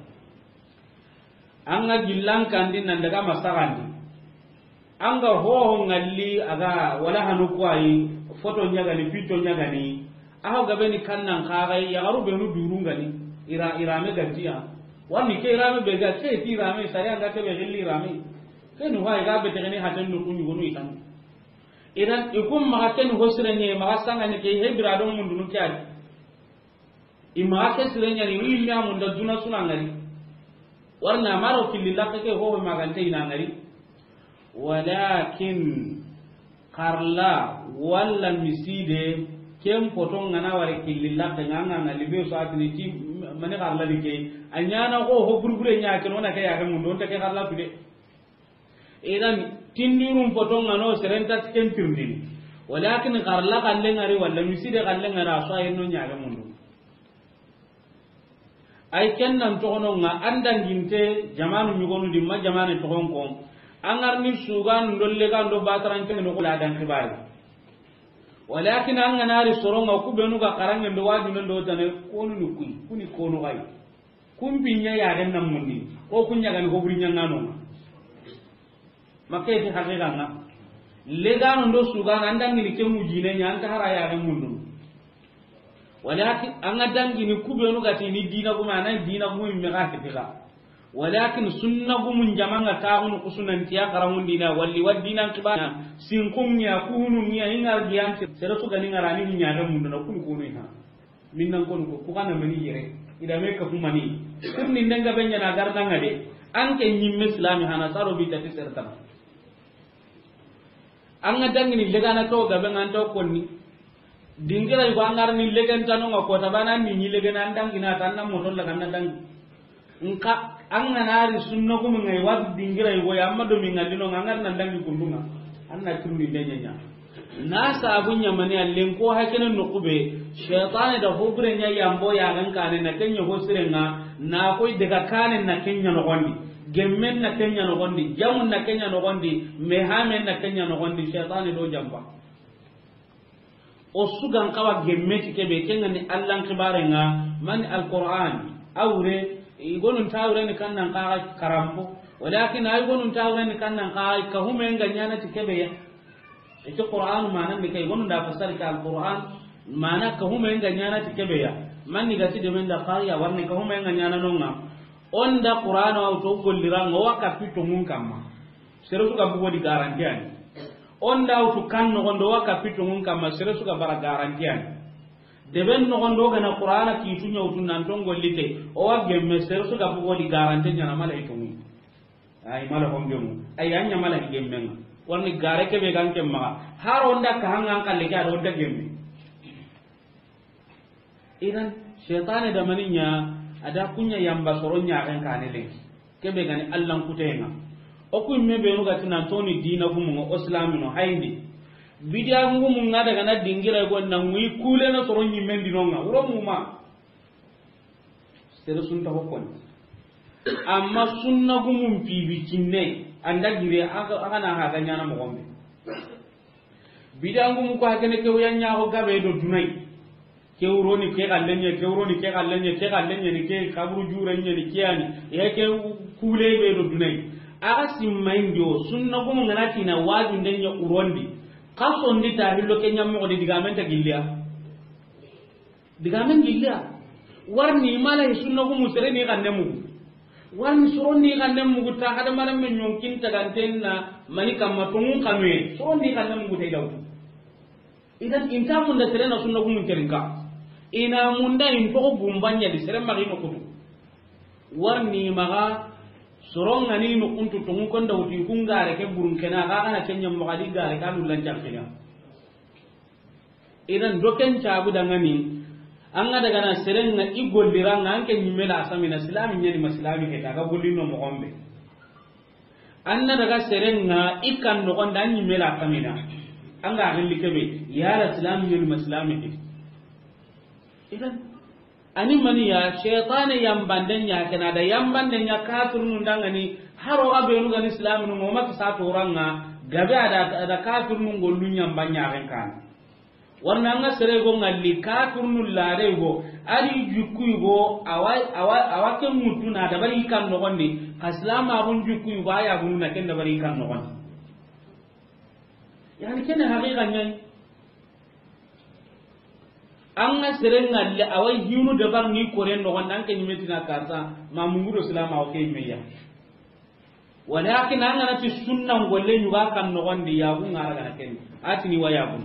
An ga gillan kandi nan daga masagandi. An ga hoho ngalli a ga wala hanu kuwayi, foto ɲa ga ni, picco ɲa ga ni. Aho gabe ni kannan kaxay, yaxaru benu durun ga ni, ira, irame gantiya. Wani ke irame be ga, ke ti irame, sari an ga ke be gilli irame. Ke ni hoy ga be tegeni haten no ku ɲugonu i kan. Idan, i kun maxa ke ni ho sire ɲe, maxa sanga ni ke, he bira don mundunu ke adi. I maxa ke sire ɲani, i yimmi a munda duna suna ngari. Warna maro killi lakke ke hoho magante ina ngari. Walakin xarla walla miside, ken poto ngana wari killi lakke nga nga ngali be so atini ti mani xarla di ke. A ɲana ko ho burbure ɲa ke no na ke ya ke mundo, on ta ke xarla tude. Idan, tindirun poto nga no seren ta ken tirndini. Walakin xarla xalle ngari walla miside xalle ngari, a so ayen no ɲaga mundu. Ay ken nan toxono nga an danginte jamanu ɲugonu di ma jamane toxon ko. An ga ri ni sugan dolle ga ndo bataran ke no ko la dan kibari. Walakin an ga na ri soro nga ku benu ga xarange ndo waju ndo tane konu ni kuy, kuni konu gay. Kumpi ɲa yaxen nan mundi, ko kun ɲa ga ni ho buri ɲangano. Makke ti haqiqa nga. Legano ndo sugana, an dangini ke mujine ɲa, an ta hara yaxen mundu. Walakin an ga dangini ku benu ga ti ni dina gume, a na ni dina gume me ga kitiga. Walakin sunna gumun jamanga taxunu kusunantiya xarangun dina, walli wa dinan kibana, sinkun ɲa, kuhunun ɲa, ingar giyanti, sere su ga ni ngarani ɲaxen mundu na kun kunu ha. Minnan konu ko, ku kana mani yere. Ida me ka humani. Kurni ndenga benya na garda nga de. An ke nyimme islami hana saro bi tati sertana. An ga dangini legana to gabe ngan to konni. Dingira yugo an ga ri ni legen tano nga ko tabana ni ni legen an dangina tan na moto la kan na dangi. Nka an ga na ri sunna gumu ngai wa dingira yugo ya amma do mi ngalli no nga ngar nan dangi kundunga. An na tirni de ɲa ɲa. Na sabu ɲamani allen ko hakene no kube. Shaytane da ho bure ɲa yambo yaxen kaane na ke ɲa ho sirenga. Na koy daga kaane na ke ɲa no gondi. Gemmen na ke ɲa no gondi. Jamun na ke ɲa no gondi. Mehamen na ke ɲa no gondi. Shaytane do jamba. O sugan kawa gemme ti kebe, kenga ni Allan kibare nga, mani Alquran, awre, igonun tawre ni kannan ka karambo, walakin ay gonun tawre ni kannan ka, ka hume nga ɲana ti kebe ya. Ito Quran mana ni kay gonun da fasar ka Alquran, mana ka hume nga ɲana ti kebe ya. Mani ga ti de men da qariya warni ka hume nga ɲana nonga. Onda Quran wa to gollira ngo wa ka pito mun kamma. Sere su ga bugo di garanti ani. Onda wutu kan nogondo wa kapitu ngun kamma sere su ga bara garanti ani. Deben nogondo gana Qur'ana kitu ɲawtu nan ton gollite. O wa gemme sere su ga bugo di garanti ɲana mala itungu. Ay mala hongemu. Ay anya mala gemmenga. Warni gare kebe gan kemma. Har onda ka hangan kalle ke ar onda gemme. Idan, shaytane da mani ɲa, a da kuɲa yamba soro ɲaxen kane lenki. Kebe gani Allan kutenga. O ku imme benu ga ti nan toni dina gumunga, o silamino hayndi. Bidiya gumunga daga na dingira go na ngui kule na soro ɲimmen dinonga. Wuro muma. Sere sunta hokkoni. Amma sunna gumun pibi cinne, anda gire, aka, aka na haga ɲana moxo be. Bidangumu ko hakene ke wuya ɲaxo gabe do dunay. Ke wuroni ke xallenye, ke wuroni ke xallenye, ke xallenye ni ke kaburu jure nye ni ke yani. Ya ke kule be do dunay. Aga simma indio, sunna gumu ngana tina waju ndenye urondi. Kaso ndi ta hillo ke ɲammo di digamen ta gilliya. Digamen gilliya. Warni mala sunna gumu sere ni xanne mugu. Warni soro ni xanne mugu ta kada mara men yonkin tagantenna mani kamma tongun kanwe. Soro ni xanne mugu tay daw. Idan inta munda sere na sunna gumun terinka. Ina munda in to gumbanya di sere magi no kutu. Warni maga soro ngani no kuntu tongu konda wuti kungare ke burun kena ga kana kenya mo gadi gare ka dullan jankina. Idan doken cabu dangani, an ga daga na serenga i gollira nga an ke ɲimme la samina silami ɲani ma silami ke ta ga gollino moxo be. An na daga serenga i kan noxon da ɲimme la samina. An ga gilli kebe, yala silami ɲani ma silami ke. Idan, ani maniya, shaytane yambanden ɲa kena da yambanden ɲa kafirnu dangani, haro ga benu gani islaminu ngoma kisa toranga, gabe ada, ada kafirnu ngollu ɲamba ɲaxen kan. Warna nga sere go ngalli kafirnu lare go, ari jukku go, awa, awa, awa ke mutuna da bari kan noxondi, ka silama gun jukku go, aya gunna ken da bari kan noxondi. Yani kene haqiqa ɲai. An ga sere ngalle, a wa hinu dabar ni koren noxon, an ke ɲimetina karsa, ma mungu do silama o ke meya. Walakin an ga na ti sunna ngolle ɲuga kan noxon di, yagu ngara gana ken. Atini wa yagu.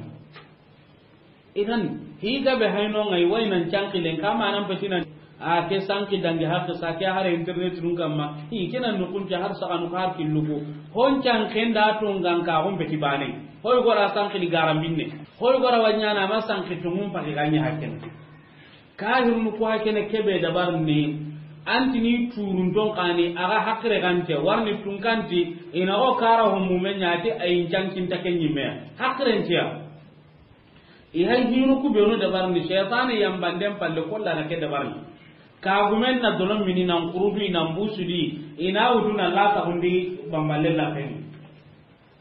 Idan, higa be hayno ngai wai nan cankilen, kama nan petina. A ke sanki dangi har sa ke har internet nun kamma. Hi kena nukun ke har saka nu har killugo. Hon can kenda to ngan ka hon beti bane. Hoy gora sanki ni garambinne. Hoy gora wanyana ma sanki tungun pake ganya hakken. Kahir nu ko hakene kebe dabar ni. Antini turun ton kani aga hakre gante warni tunkanti ina o kara ho mumenya ti ayin cankin takenyi me. Hakren tiya. I hay hinu ku benu dabarni, shaytani yambanden palle kolla na ke dabarni. Kagumen na dolon mini nan kurudu i nan busudi, i na wutu na lata hundi bamballe la feni.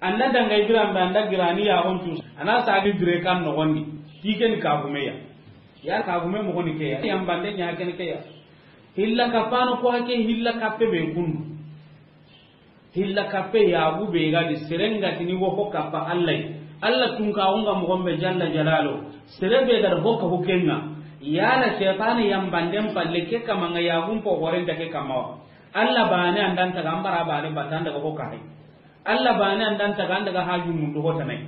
Anda danga ibiran be anda girani ya hontu, ana sagi dire kan noxondi, ti ken kagume ya. Ya kagume moxoni ke ya, yambande ɲa ken ke ya. Hilla kapano ko hake hilla kappe be kundu. Hilla kappe yagu be ga di serenga tini wo ho kappa Allah. Allah tunka wonga moxo be jalla jalalo. Sere be ga da ho ka hukenga. Yala shaytani yambanden palle ke kamanga yagun po horenta ke kamawa. Allah bane andan taga ambara bane batanda ga ho ka hay. Allah bane andan taga andaga haju mundu ho tanai.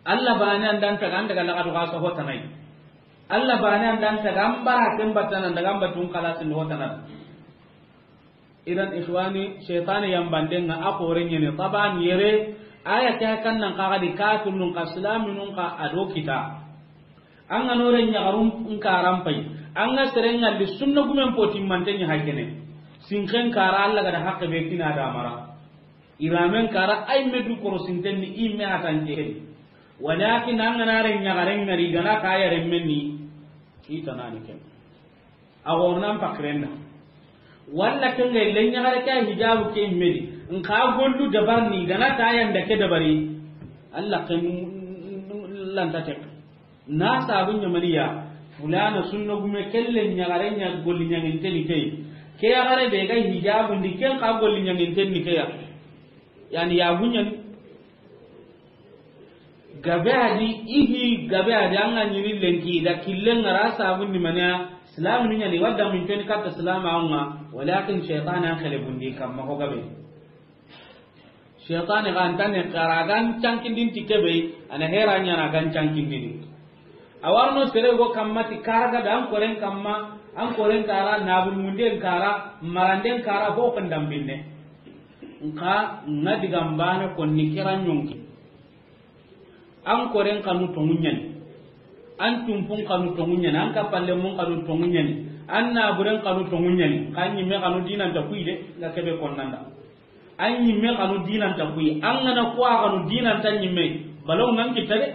Allah bane andan taga andaga lagadu gasa ho tanai. Allah bane andan taga ambara ken batana andaga ambatun kalasin ho tanai. Idan ikhwani, shaytani yambanden nga a xoren ɲene taban yere, aya ke kan nan kaga di kafirnun ka islaminun ka ado kita. An ga no ren ɲagarun nkaran pay. An ga seren ngalli sunna gumen poti manten ɲa hakene. Sinken kara Allah ga da hakke be kina da mara. Iramen kara ay medu koro sinten ni imme atan ke. Walakin an ga na ren ɲagaren ngari gana kaya remmenni. Itanani ken. A wornan pakirenda. Walla ken ga ille ɲagare ke hijabu ke medi. Nka gollu dabarni gana ta yanda ke dabari. Allah ken lanta tek. Na sabu ɲamaniya. Fulana sunna gume kelle ɲagare ɲa golli ɲanginteni key. Ke yagare be ga hijabu ndi ken ka golli ɲanginteni keya. Yani ya gunyan. Gabe adi ihi gabe adi an ga ɲini lenki da killen ngara sabun ni manya islam ni ɲani wadda min toni katta islam a nga walakin shaytan an khale bundi kamma ko gabe. Shaytan ga antane kara gan cankindin ti kebe ana hera ɲana gan cankindin. Awarno sere go kamma ti kara ga dan koren kamma an koren kara nabul munden kara maranden kara ho kan dambinne. Nka nga diga mbane konni kira ɲonki. An koren kanu tongu ɲani. An tumpun kanu tongu ɲani. An kapalle mun kanu tongu ɲani. An naburen kanu tongu ɲani. Ka ɲimme kanu dinanta kuyi de, nga kebe konnanda. An ɲimme kanu dinanta kuyi. An gana kuwa kanu dinanta ɲimme. Balaw nan kita de.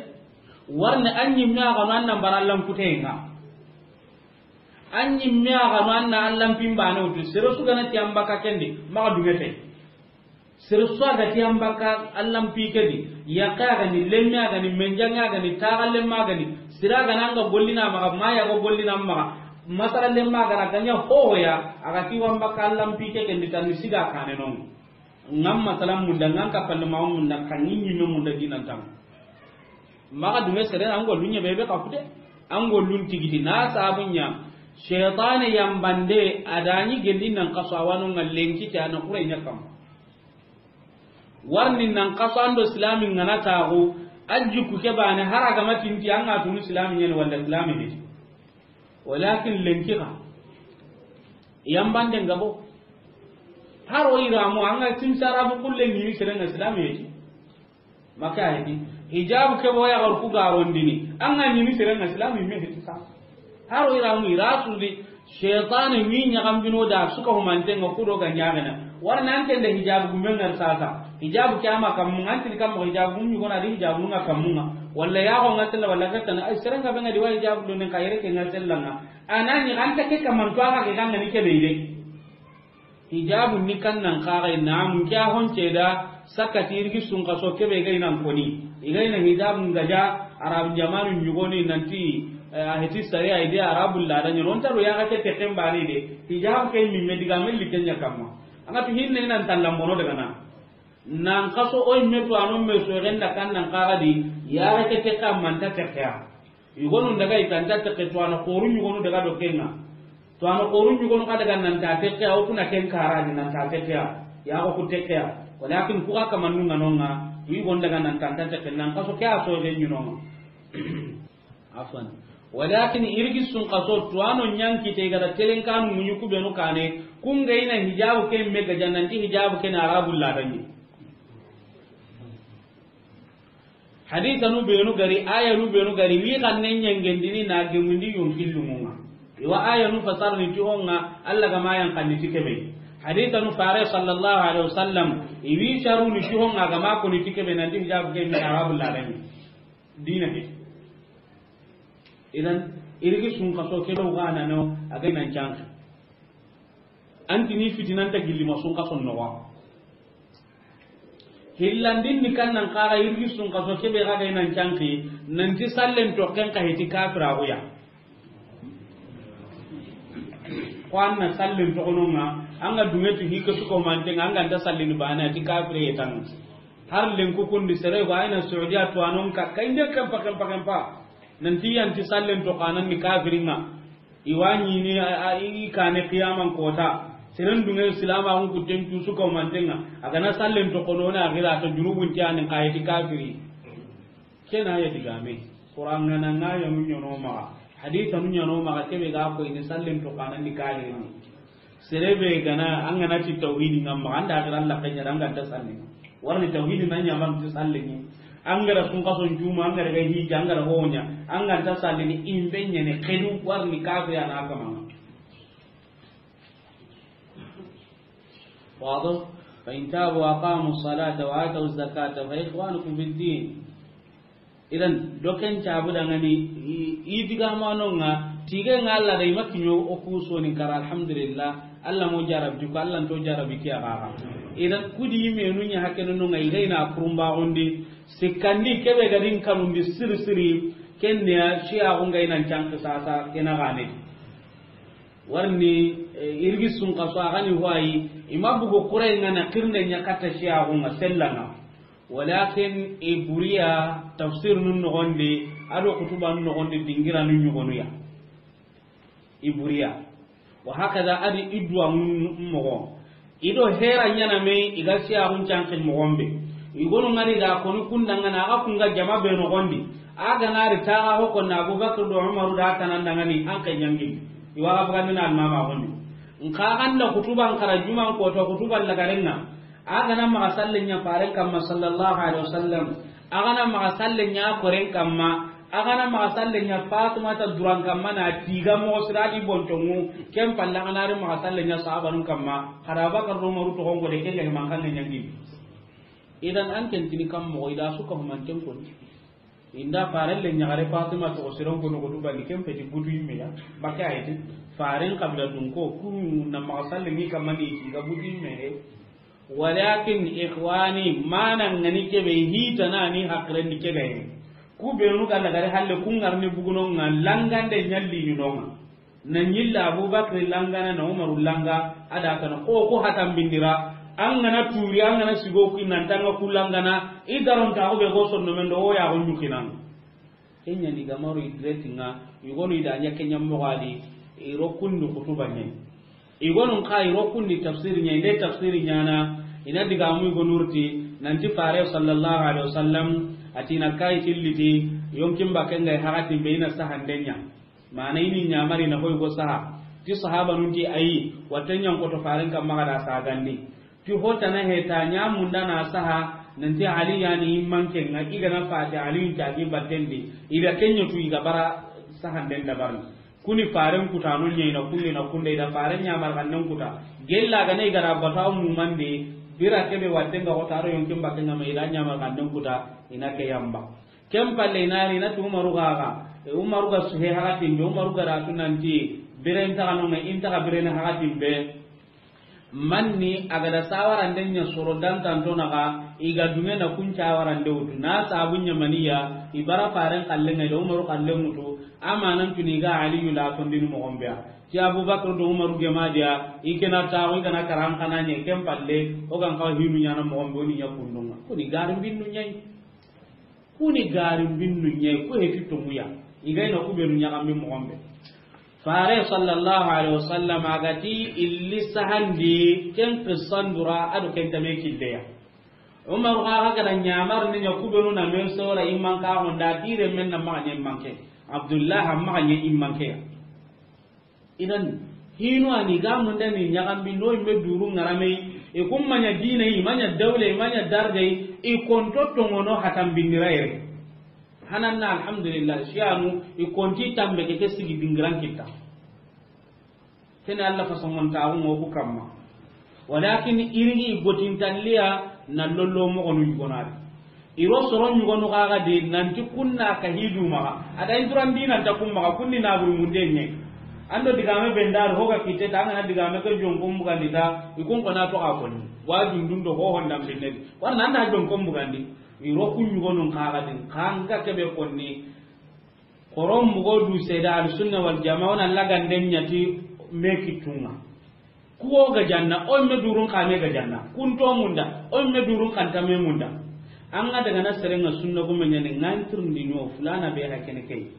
Warne an ɲimme kanu an nan barallan kutenga. An ɲimme a ga no an na Allan pin baane wutu, sere su ga na ti an baka ken di, maxa duŋe te. Sere su a ga ti an baka Allan pi ke di, yaxe a ga ni, lemme a ga ni, menjaŋe a ga ni, taxa lemme a ga ni, sere a ga na an ga gollini a maxa, ma ya ga gollini a maxa, masara lemme a ga na ga ɲa hohoya, a ga ti wa an baka Allan pi ke ken di, tan ni siga kaane no. Ŋa n masalan munda, ŋa n kappalle ma munda, xa ŋi ɲimme munda dinan tan. Maxa dume sere, an gollun ɲa be be xa fute. An gollun tigiti na sabu ɲa. Shaytane yambande a da ɲi gelli nan xaso, a wa no ŋa lenki ta na xure ɲa kam. Warni nan xaso an do silami ŋa na taxu, a jikku ke baane, hari a ga ma tinti an ŋa tunu silami ɲa ni walla silami heti. Walakin lenki xa yambande ŋa bo. Hari o yiramu an ga tin sarabu kulle ni sere ŋa silami heti. Maka heti. Hijabu ke bo ya gar ku garondini. An ga ɲi ni sere ŋa silami me heti sa. Hari o yiramu ira su di. Shaytane wi ɲaxambino da su ka humante ŋa ku do ga ɲaxena. Warna an ken da hijabu gumbe ŋa sasa. Hijabu ke a ma kammu ŋa, an ti ni kammu hijabu gumbe ɲi gona di hijabu ŋa kammu ŋa. Walla ya go ŋa sella walla ka tan. Ay sere ŋa be ŋa di wa hijabu do ne ka yere ke ŋa sella ŋa. A na ɲi an ta ke kaman to a ga ke ga ŋa ni ke be ide. Hijabu ni kan nan xaxa na mun ke a honce da sakati irgi sun xaso ke be ga i nan koni. I ga i na hijabu ŋa ja Arab jamanu ɲugoni nanti, eh, a heti sariya ide Arabu la da ɲono ta do ya ga ke te ken bari de. Hijabu ke mi me diga me li ken ɲa kamma. An ga tu hinne nan tallan bono daga na. Nan xaso o me to a no me so genda kan nan xaxa di ya ga ke te kamma ta te ya. Yugonu daga i kan ta tekke, to a na xoru ɲugonu daga do ken ŋa. To a na xoru ɲugonu xa daga nan ta tekke, o ku na ken kara ni nan ta tekke ya. Ya ko ku tekke ya. Walakin ku ga kamannu ŋa no ŋa, yugonu daga nan ta tekke, nan xaso ke a so de ɲi no ŋa. Afwan. Walakin irgi sun xaso to a no ɲanki te ga da telen kanu muɲu ku be no kane, ku ŋa i na hijabu ke me ga ja nanti hijabu ke na Arabu la da ɲi. Hadisanu benu gari, ayanu benu gari, wi xanne ɲangendini na gemundi yonkillumunga. Iwa ayanu fasarni ti honga, Allah ga ma yan xanni ti kebe. Hadisanu fare sallallahu alaihi wasallam, iwi sharuni ti honga ga ma koni ti kebe, nanti hijabu ke mi Arabu la dani. Dina ke. Idan, irigi sun kaso ke do ga na no, a ga nan canki. Anti ni fitinanta gilli ma sun kaso no wa. Hillandin ni kan nan xara irgi sun kaso kebe ga ga nan canki, nanti sallen to ken ka heti kafira go ya. Ko an na sallen to kono nga, an ga dunge ti hike su ko mante nga, an ga nta sallini bana ti kafire yetan. Har len ku kundi sere go ayna Saudiya to anon ka kainde kan pa kan pa kan pa. Nanti yanti sallen to kanan ni kafiringa. Iwa ɲini a, a, i kane qiyaman kota. Seren dunge silama hun kuten tu su ko mantenga. A ga na sallen to kono na gira to junubun ti anin kayeti kafiri. Kena ya digame. Qur'an ngana ngaya mun ɲono maxa. Hadisa mun ɲono maxa kebe ga ko ini sallen to kanan ni kafiri. Sere be ga na, an ga na ti tawhidi nga maxa, an da gira Allah kanya, an ga nta sallini. Warni tawhidi na ɲa man ti sallini. An ga ra sun kaso ncuma, an ga ra ga hija, an ga ra honya, an ga nta sallini, imbe ɲene kedu warni kafiri ana kama. Wado? Fa in tabu wa aqamu salata wa atu zakata fa ikhwanukum fid din. Idan, doken cabu dangani, i, i diga manonga, tige nga Allah da i ma kiɲo o ku soni kara, alhamdulillah, Allah mo jarabi ko, Allah to jarabi kiya kaka. Idan, kudi menu nya hakeno nonga, i ga ina kurumba gondi, sikandi kebe gadin kanundi siri siri, kenya shiya gonga ina canki sasa, kena gane. Warni, eh, irgi sun kaso agani huayi, i ma bugo kurai ngana kirnde nya kata shiya gonga sellanga. Walakin i buriya tafsir nun nogondi, ado kutuba nun nogondi dingira nun ɲugonuya. I buriya. Wa hakada adi idwa nun mogo. Ido hera ɲana me iga siya hun cankin mogombe. Igonu ngari da koni kundangana aga kunga jama be nogondi. Aga nari taga hoko na Abubakar do Umaru da tanandangani an kai ɲangi. Iwaga bagandina almama gondi. Nka ganda kutuba nkara juma nkoto kutuba lagarenga. A ga na maxa sallen ɲa faren kamma sallallahu alaihi wasallam. A ga na maxa sallen ɲa koren kamma. A ga na maxa sallen ɲa Fatumata duran kamma na tiga moxo siradi bontongu. Ken palle a ga na ri maxa sallen ɲa sahabanun kamma. Xara Abubakar do Umaru toxon gode ken ga mankan ɲangi. Idan an ken tini kam moxo ida su ka humanten koni. Inda farelle ɲaxare Fatima toxo siron kono ko tubandi ken peti butu yimme ya. Bakke ayeti. Faren kabila dun ko, kunu na maxa salle ni kamani ti ga buti me. Walakin ikhwani, mana ngani kebe hita na ni hakren ni kebe. Ku benu ga lagare halle ku ngarni buguno nga langande nyalli ni nonga. Na nyilla Abubakar langana na Umaru langa, ada kana ko ko hatan bindira. An gana turi, an gana sigo ku nan tanga ku langana, i daron ta ko be go sonno men do o ya go nyukinan. Kenya ni gamaru idretinga, yugonu ida nya kenya mogadi, iro kundu kutuba nye. Igonun ka iro kundi tafsiri nya, inde tafsiri nyana, ina diga mu igonurti, nanti fare sallallahu alaihi wasallam, atina kai tilliti, yonkin bakenga hakatin be ina sahandenya. Mana ini nyamari na hoy go saha. Ti sahaba nunti ayi, watenyan ko to faren kam magada sagandi. Ti hotana heta ɲamunda na saha, nanti Ali yani immanke nga igana fati Ali ntagi battendi, ida kenyo tu iga bara sahanden dabarni. Kuni faren kutano ɲa ina kunde ina kunde ida faren ɲamar kannen kuta. Gella gana igara bata mumande, bira kebe wattenga hotaro yonkin bakenga ma ida ɲamar kannen kuta, ina ke yamba. Ken palle inari inati Umaru gaga, e Umaru ga suhe hakatin be, Umaru ga ratu nanti, biren taga nonga, in taga biren hakatin be. Manni a ga da sawarande ɲa soro dantanto naxa, i ga duŋe na kun cawarande wutu. Na sabu ɲamaniya, i bara faren xallen ŋa, i da Umaru xallen wutu, amanan tuni i ga Aliyu la tondini moxon be ya. Ti Abubakar do Umaru gemadiya, i kena taxu, i gana karan xana ɲe, ken palle, o gan xawa hinu ɲana moxon be, o ni ɲa kundunga. Kuni garin binnu ɲayi. Kuni garin binnu ɲayi, ku heti tonguya. I ga ina ku benu ɲaxambi moxon be. Fare sallallahu alaihi wasallam a ga ti illi sahandi ken qissan dura a do ken tame killeya. Umar xa ga da ɲamar ni ɲa ku benu na men sora imman ka honda tire men na maxa ɲe manke. Abdullah maxa ɲe immanke ya. Idan, hinu ani ga mundani ɲaxambi no imme duru ŋaramei, i kun maɲa dinai, i maɲa dawlei, i maɲa darjai, i konto tongono hatan bindirayere. Hananna, alhamdulillah, siyanu, i konti tambe ke, ke sigi dingiran kitta. Kene Allah fasongon taxu ŋo ku kamma. Walakin irigi gotintalliya na lollo moxonu yugonadi. Iro soro ɲugonu xaxa de nanti kunna ka hidu maxa. Ada inturan dinanta kun maxa, kunni naburu munde ɲe. Ando digame bendar hoga kitte ta ngana digame ke jonkon bugandi ta, i kun kona to xa konni. Wa dundun do ho honda binnedi. Warna anda jonkon bugandi. Iro kun ɲugonun xaxa din, kanga kebe konni. Koron mugo du seda al sunna wal jamaa, wona laganden ɲati me kittunga. Kuwo ga janna, o me durun kame ga janna. Kunto munda, o me durun kanta me munda. An ga daga na serenga sunna gume ɲani, ngantirndi no, fulana be ha kene kei.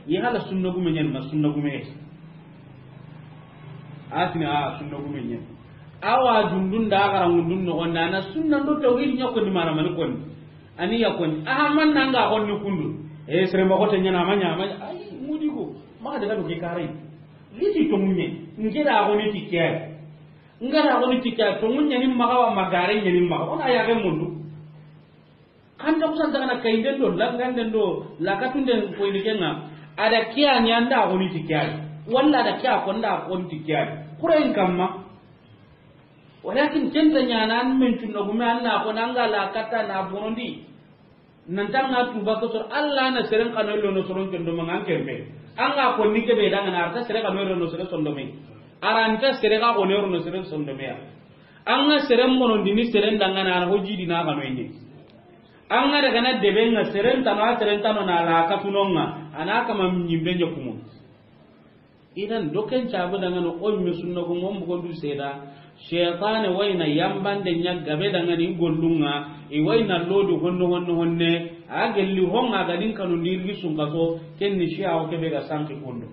Yi hala sunna gume ɲani, ma sunna gume. Atini a sunna gume ɲani. Awa dundun da gara mundun no gonda na sunna do tawhid ɲa ko ni mara mani konni. Ani ya konni. Aha man nanga konni kundu. E sere ma ko te ɲana ma ɲa ma. Ay, mudi ko. Ma daga do ke kare. Liti to munye. Ngira ko ni tikke. Ngara ko ni tikke. To munye ni maga wa magare ni maga. Ona ya ga mundu. Kanta kusan daga na kainden do, langanden do, lakatunden ko ini kenga. Ada kiya ni anda ko ni tikke. Walla ada kiya ko nda ko ni tikke. Kurain kamma. Walakin kenta ɲana an men cunna gume an na ko nanga la katta na bonondi. Nanta nga tuba ko sor Allah na seren kano lo no soron condo ma ngan kembe. Anga ko ni kebe danga na arta sere kano lo no sere sondo me. Aranta sere ka ko ne no sere sondo me ya. Anga sere monondi ni seren danga na ho jidi na kano ine. Anga daga na debe nga seren tano, seren tano na la katunonga. Ana kama nyimbe nyakumo. Idan, doken cabu dangani o yimme sunna ko mon bugondu seda. Shaytane wayna yambande ɲa gabe dangani gollunga, i wayna lodi honne, honne, honne. A gelli honga ga din kanu ndirgi sunkaso, kenni shiya o kebe ga sanki kondo.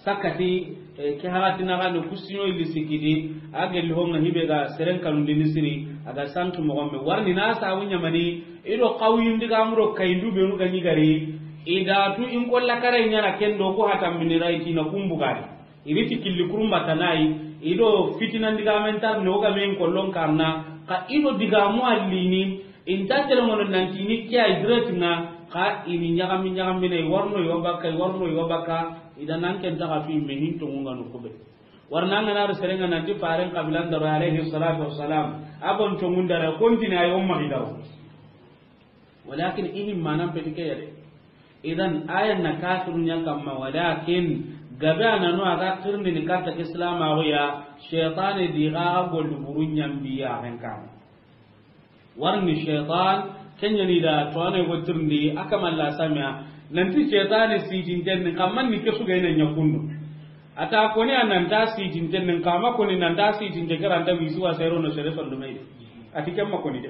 Sakati, eh, ke haratina ga no kusinyo illi sikidi, a gelli honga hibe ga seren kanu ndini siri, a ga sanki mogombe. Warni na sabu ɲamani, Ido kawuyindi ga muro kayindu benu ga ɲi gari, i da tu in kolla kare ɲana kendo ko hatam bini rai tina kumbugari. Iri ti killi kurumba tanai, ido fitina ndiga mentar ne o ga men kollon karna, ka ido diga mu allini, inta tele ngono nanti ni kiya idret na, ka ini ɲagami ɲagami ne, i warno yo baka, i warno yo baka, ida nan ken taga fi me hinto ngano kube. Warna ngana ri serenga nanti faren kabilan daro alayhi salatu wassalam. Abon congundara kontini ay umma gidaro. Walakin ihim manan petike yade. Idan ayan na kafirun ya kamma, walakin Gabe a na no a ga tirindini katta ke silaamaxu ya, shaytaane di ga ga golli buru ɲambi ya ken kan. Warni shaytan, ken ɲa ni da to ane go tirindi, a kamalla samiya, nanti shaytaane sitinten ni, kamman ni ke su ga ina ɲa kundu. A ta koni a nan ta sitinten ni, kama koni nan ta sitinte ke ra nta wisi wa sero no sere sondomey de. A ti ken ma koni de.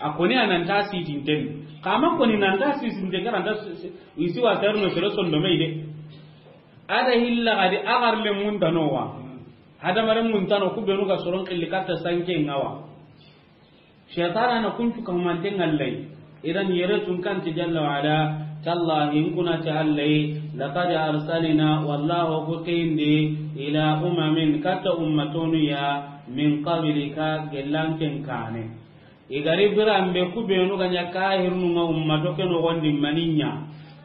A koni a nan ta sitinten ni, kama koni nan ta sitinte ke ra nta si-, si-, wisi wa sero no sere sondomey de. A da hilla ga di a garle mun ta no wa. Hadamaren mun ta no ku benu ga soron xilli katta sanke ŋa wa. Shaytana na kuncu kahumanten ŋa Alla yi. Idan yere tun kan ti jalla wa ala, tallahi in kuna ti Alla yi, laqad arsalna, wallahu ku kindi, ila umamin, katta ummatonu ya, min qablika, gellanken kane. I gari biranbe ku benu ga ɲa kahirnu ŋa ummato ke noxondi maniɲa.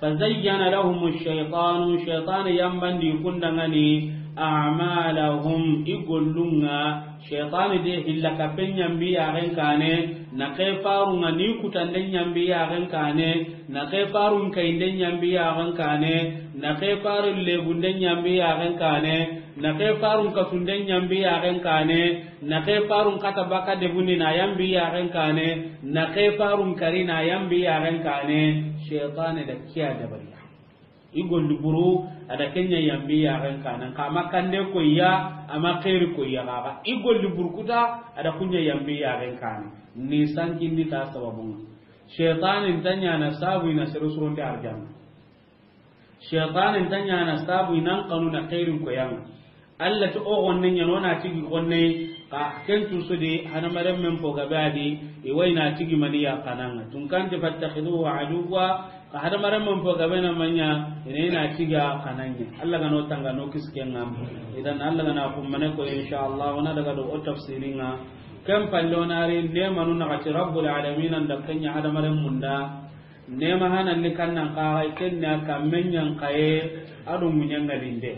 Fa zayyana lahumu shaytanu, shaytani yambandi kundaŋani, amalahum, i gollun ŋa. Shaytani de hilla kappe ɲambi yaxen kane, na ke farun ŋa ni kutande ɲambi yaxen kane, na ke farun kayinde ɲambi yaxen kane, na ke farun legunde ɲambi yaxen kane, na ke farun katunde ɲambi yaxen kane, na ke farun kata baka debundi na yambi yaxen kane, na ke farun kari na yambi yaxen kane. Shaytani da kiya dabariya. I golli buru, a da kenya yambi yaxen kane. Ka ma kande koyya, a ma xeeri koyya xaxa. I golli buru kuta, a da kunya yambi yaxen kane. Ni sankindi ta sababun ŋa. Shaytani nta ɲana sabu i na sere suronte arjanna. Shaytani nta ɲana sabu i nan kanu na xeerin koyan ŋa. Alla ti o xonne ɲa no na tigi xonne, ka ken tu su di hadamaren men fo gabe a di, i wa i na tigi mani ya xanan ŋa. Tun kan ti fattakhiduhu aduwwa, ka hadamaren men fo gabe na maɲa, i na i na tigi a xanan ɲa. Alla ga no tanga no kisi ken ŋa. Idan Alla ga na kummane ko insha Allah, o na daga do o tafsirin ŋa. Ken palle o na ri nemanu na ga ti Rabbul Alamin an da kenya hadamaren mun da. Nema hanan ni kannan kaxay, ken ni a kammen ɲan kaye, a do ŋuɲen ŋalinde.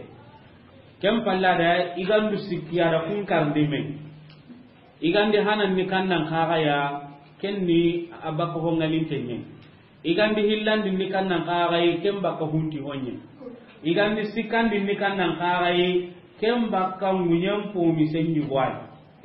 Ken palla da i gandu sikki a da kun karndi me. I gandi hanan ni kannan kaxaya, ken ni a bakka ho ŋalinte ɲe. I gandi hillandi ni kannan kaxay, ken bakka hunti ho ɲe. I gandi sikkandi ni kannan kaxay, ken bakka ŋuɲen pomi sen ɲi gwai.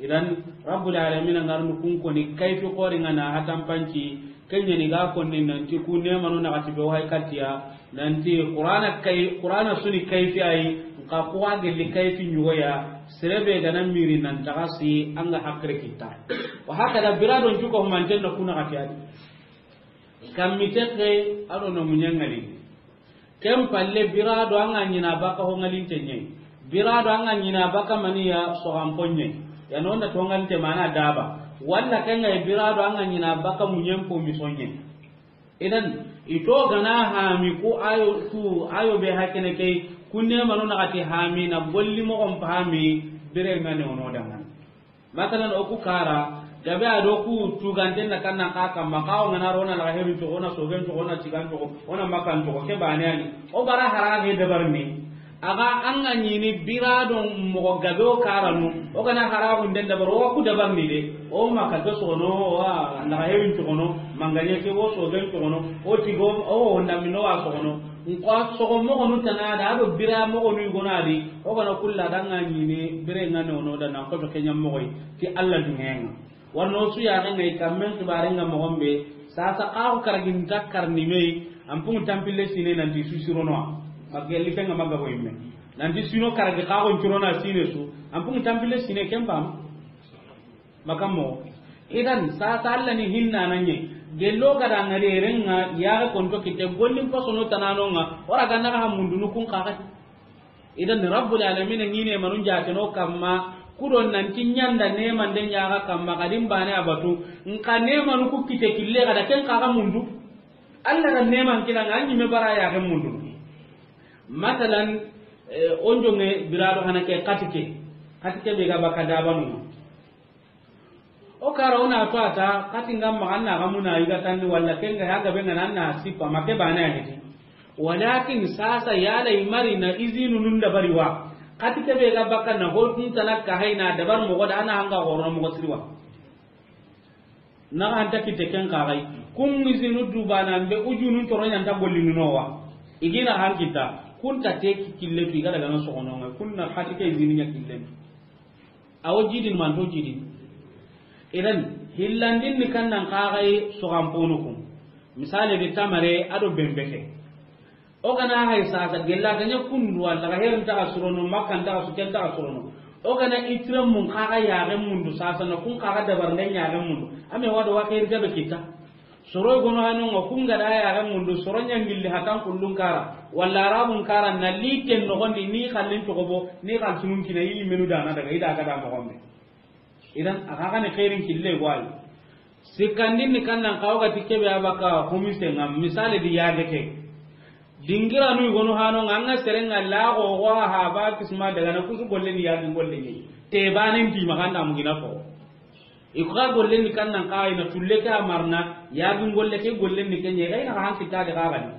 Idan Rabbul Alamin a ngarnu kun koni kayfi xori ŋa na hatan panci, ken ɲa ni ga konni nanti ku nemanu na ga ti be wa hay katiya, nanti Qur'ana kay, Qur'ana suni kayfi ay, nka ku wa gelli kayfi ɲugoya, serebe ga na miri nan tagasi an ga hakre kita. Wa hakada biradon cuko humanten na kuna ga ti adi. Kammi texe a do no muɲangali. Ken palle, bira do an ga ɲina baka ho ŋalinte ɲe. Bira do an ga ɲina baka maniya soxanpo ɲe. Ya no na to ŋalinte mana daba. Walla ken ga bira do an ga ɲina baka muɲen po misonɲe. Idan, ito gana hami ku ayo, ku ayo be hakene kay, kunne manu na ga ti hami na golli moxon pahami, bire ŋa ne wono dangan. Masalan, o ku kara, gabe a do ku tuganten na kannan xa kamma, xa o ŋana ro na laga herin cogo, o na sogen cogo, o na cigan cogo, o na makan cogo, ke bane ani. O bara hara he dabar ni. Aga an ga ɲini bira do moxo gabe o karanu, o gana hara gunden dabar, o ku dabar ni de. O maka ke sono, wa laga herin cogo no, manganye ke o sogen cogo no, o tigo, o honda mino wa sogo no. Nko sogo moxonu tana da, a do bira moxonu i gona di, o gana kulla da ŋa ɲini, bire ŋa ne wono da na ko to kenya moxoy, ti Alla dunŋen ŋa. Warno su ya ŋa ngai kammen xibare ŋa moxon be, sasa xa ko karagin ta karni me, an pungu tampille sine nanti su sirono, ma gelli fe ŋa maga ko imme. Nanti sino karagi xa ko curona sine su, an pungu tampille sine ken pam. Makammo. Idan, sasa Alla ni hinna na ɲe. Gello ga da ŋari ren ŋa, ya ga konto kite, gollin pasono tanano ŋa, o ra ga na ga hamundunu kun kaga. Idan, Rabbul Alamin ŋi ne manun jateno kamma, ku do nanti ɲanda nemande ɲa ga kamma, kadin bane a batu, nka nemanu ku kite kille ga da ken kaga mundu. Alla da neman kina ŋa, ɲi me bara ya ga mundu. Masalan, eh, o njonge bira do hana ke xati ke. Xati ke be ga baka dabanu. O kara o na to a ta, xati ŋa maxa na ga muna i ga tanni walla ken ga ya gabe ŋa na na sipa ma ke bane a heti. Walakin sasa yala i mari na izinu nun dabari wa. Xati ke be ga baka na ho tun tana ka hay na dabar moxo da a na hanga xoro moxo siri wa. Na ga anta kite ken kagai. Kun izinu du bana be ujunun toro ɲanta gollinu no wa. I gina han kita. Kun ta te ki kille tu i ga daga na soxono ŋa, kun na hati ke zini ɲa kille. Awo jidin manto jidin. Idan, hillandin ni kan nan kaxay soxan ponu kun. Misali di tamare ado bembeke. O gana hay sasa gella ganya kundu walla ga herin ta surono, makkan ta su ken ta surono. O gana itira mun kaga ya ga mundu sasa na kun kaga dabar ndan ya ga mundu. Ame wado wa khair gabe kita. Soro gono hanu ngo kun ga da ya ga mundu soro nyangilli hatan kullun kara. Walla arabun kara na liten no gondi ni khallin to gobo ni khal tunun kina yi menu dana daga ida ga da mo gombe. Idan, a xa xa ni xeerin kille go a yi. Sikkandin ni kan nan xawo ga ti kebe a baka humise ŋa, misali di yage ke. Dingira nu gono hano ŋa, an ga sere ŋa laxo go ha ba kisma daga na kusu golle ni yage golle ni. Te banen ti ma kan da mu gina ko. I ko ga golle ni kan nan xa i na tulle ke a marna, yage golle ke golle ni ke ɲe, ga i na xa han kita de ga ga ni.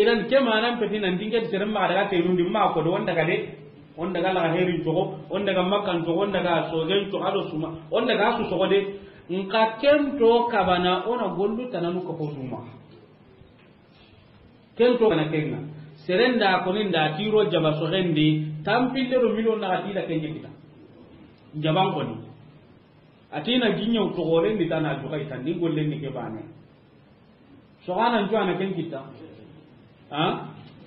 Idan ke manan peti nan dinke sere ma daga te nundi ma ko do, on daga de, on daga la herin togo, on daga makkan togo, on daga sogen togo, ado suma, on daga su sogo de. Nka ken to kabana ona gollu tananu ko ko suma. Ken to kana kenna. Serenda ko ni nda tiro jaba sogendi, tampille do miliyon na tila kenye kita. Jaban ko ni. Atina ginyo to golen di tana jukai tan di gollen ni ke bane. Soxanan cuwana ken kitta. Ha?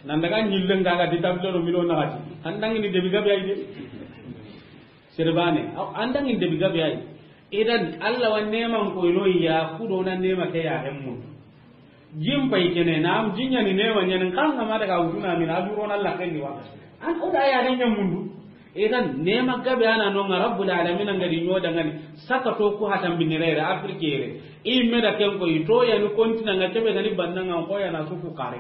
Nan daga ɲillen ga ga di tablo do milo naxati. An dangini debi gabe ay de. Sirbane. Aw, an dangini debi gabe ay. Idan, Allah wa neman ko ino ya, ku do na nema ke ya hemmu. Jin pay kene, na am jinya ni nema ɲan kan ga ma daga wutuna min, a duro na Allah ken ni wa. An o da ya ren ɲa mundu. Idan, nema gabe ana no ŋa Rabbul Alamin an ga di ɲo dangani. Saka to ku hatan binirere, Afrique yere. I me da ken ko, i to ya ni kontina ŋa kebe ga ni banna ŋa ko ya na su fuqare.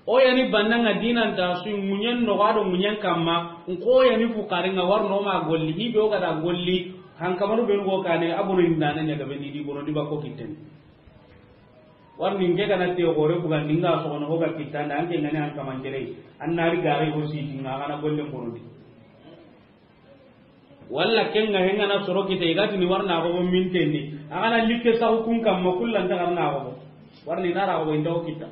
O ya ni banna ŋa dinan ta su ŋuɲen no ga do ŋuɲen kamma, ko ya ni fuqare ŋa war no ma golli, hi be o ga da golli, han kamaru be go kane, abono ni nana ɲa gabe ni di bono di ba ko kitten. Warni nke gana te gore bugandi nga soxono, o ga kittanda, anke ngani an kamantere, an nari gare ho siti nga gana golle bonondi. Walla kenga hengana soro kita, i ga tini warna go mintendi, a gana likke saxu kun kamma, kullanta garna go. Warni nara go inta o kitta.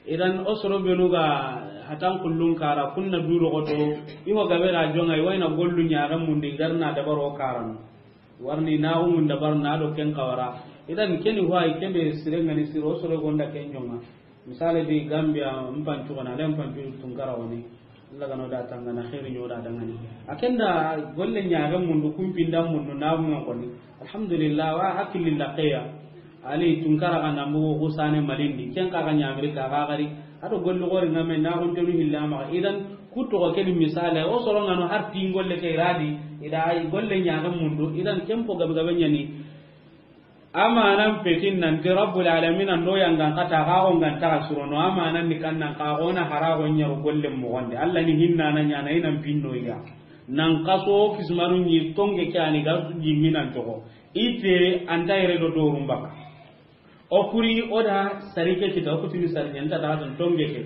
Idan o soro benu ga hatan kullun kara, kunna duro goto, i ho gabe ra jonga, i wayna gollu ɲaga mundi, garna dabaro karan. Warni naxu ŋunda bar na do ken xawara. Idan keni huwa i kebe sire ngani siro soro gonda ken jonga. Misale di Gambia mpancu gana le mpancu Tunkara woni. Allah gano da tangana xeeri ɲo da dangani. A kenda golle ɲaga mundu kumpinda mundu naxu ŋa koni. Alhamdulillah wa hakililla xeya. Ali Tunkara ga na mbugu xusane Malindi, ken xa ga ɲa Amerika xa gari, a do golli xori ŋa me na gon tenu hilla ma. Idan ku toxo ke di misale, o soro ŋa no har ti golle ke radi, ida ay golle ɲaga mundu, idan ken po gabe gabe ɲani. Amanan petin nan ti Rabbul Alamin an do yangan kata ga go ngan ta surono, amanan ni kan nan ka go na hara go ɲaro golle mo gonde. Allah ni hinna na ɲana inan pinno ya. Nan kaso kismaru ni tonge ke ani ga jiminan toxo. Ite anta yere do dorum baka. O kuri o da sarike kita, o kutini sarike nta da ton tonge ke.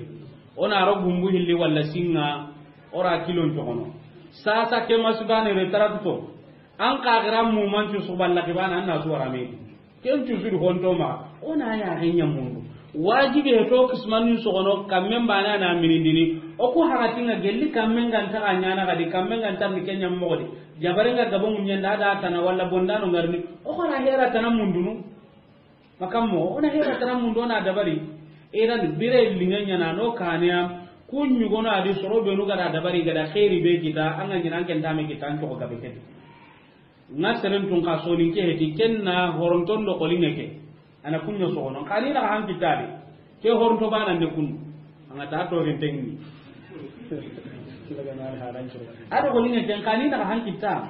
O na ro gumbu hilli walla singa, o ra kilon toxono. Sasa ke masubane re tarakto. An ka gira mu mancu suballa kibana an na suwara me. Ken cu sudi honto ma, o na ya henya mundu. Wajibi he to kismanu soxono, kammen bana na minindini. O ku hakatinga gelli kammen ganta ɲana gadi, kammen ganta ni kenya mogodi. Jabarenga gabo munyanda da tana walla bondano ngarni. O xara hera tana mundunu. Makammo, o na hera tana mundu, o na dabari. Idan bire linga ɲana no kaniya, kunyugono adi soro benu gada dabari gada xeeri be kita, anga ɲina an ken tame kita an coxo gabe kedi. Nga seren tun ka sonin ke heti, ken na horonton do xolinge ke. Ana kunyo soxono, kani na han kitade. Ke horonto bana ne kun. Anga ta to rintengi. Ado ko linge ken kani na han kita.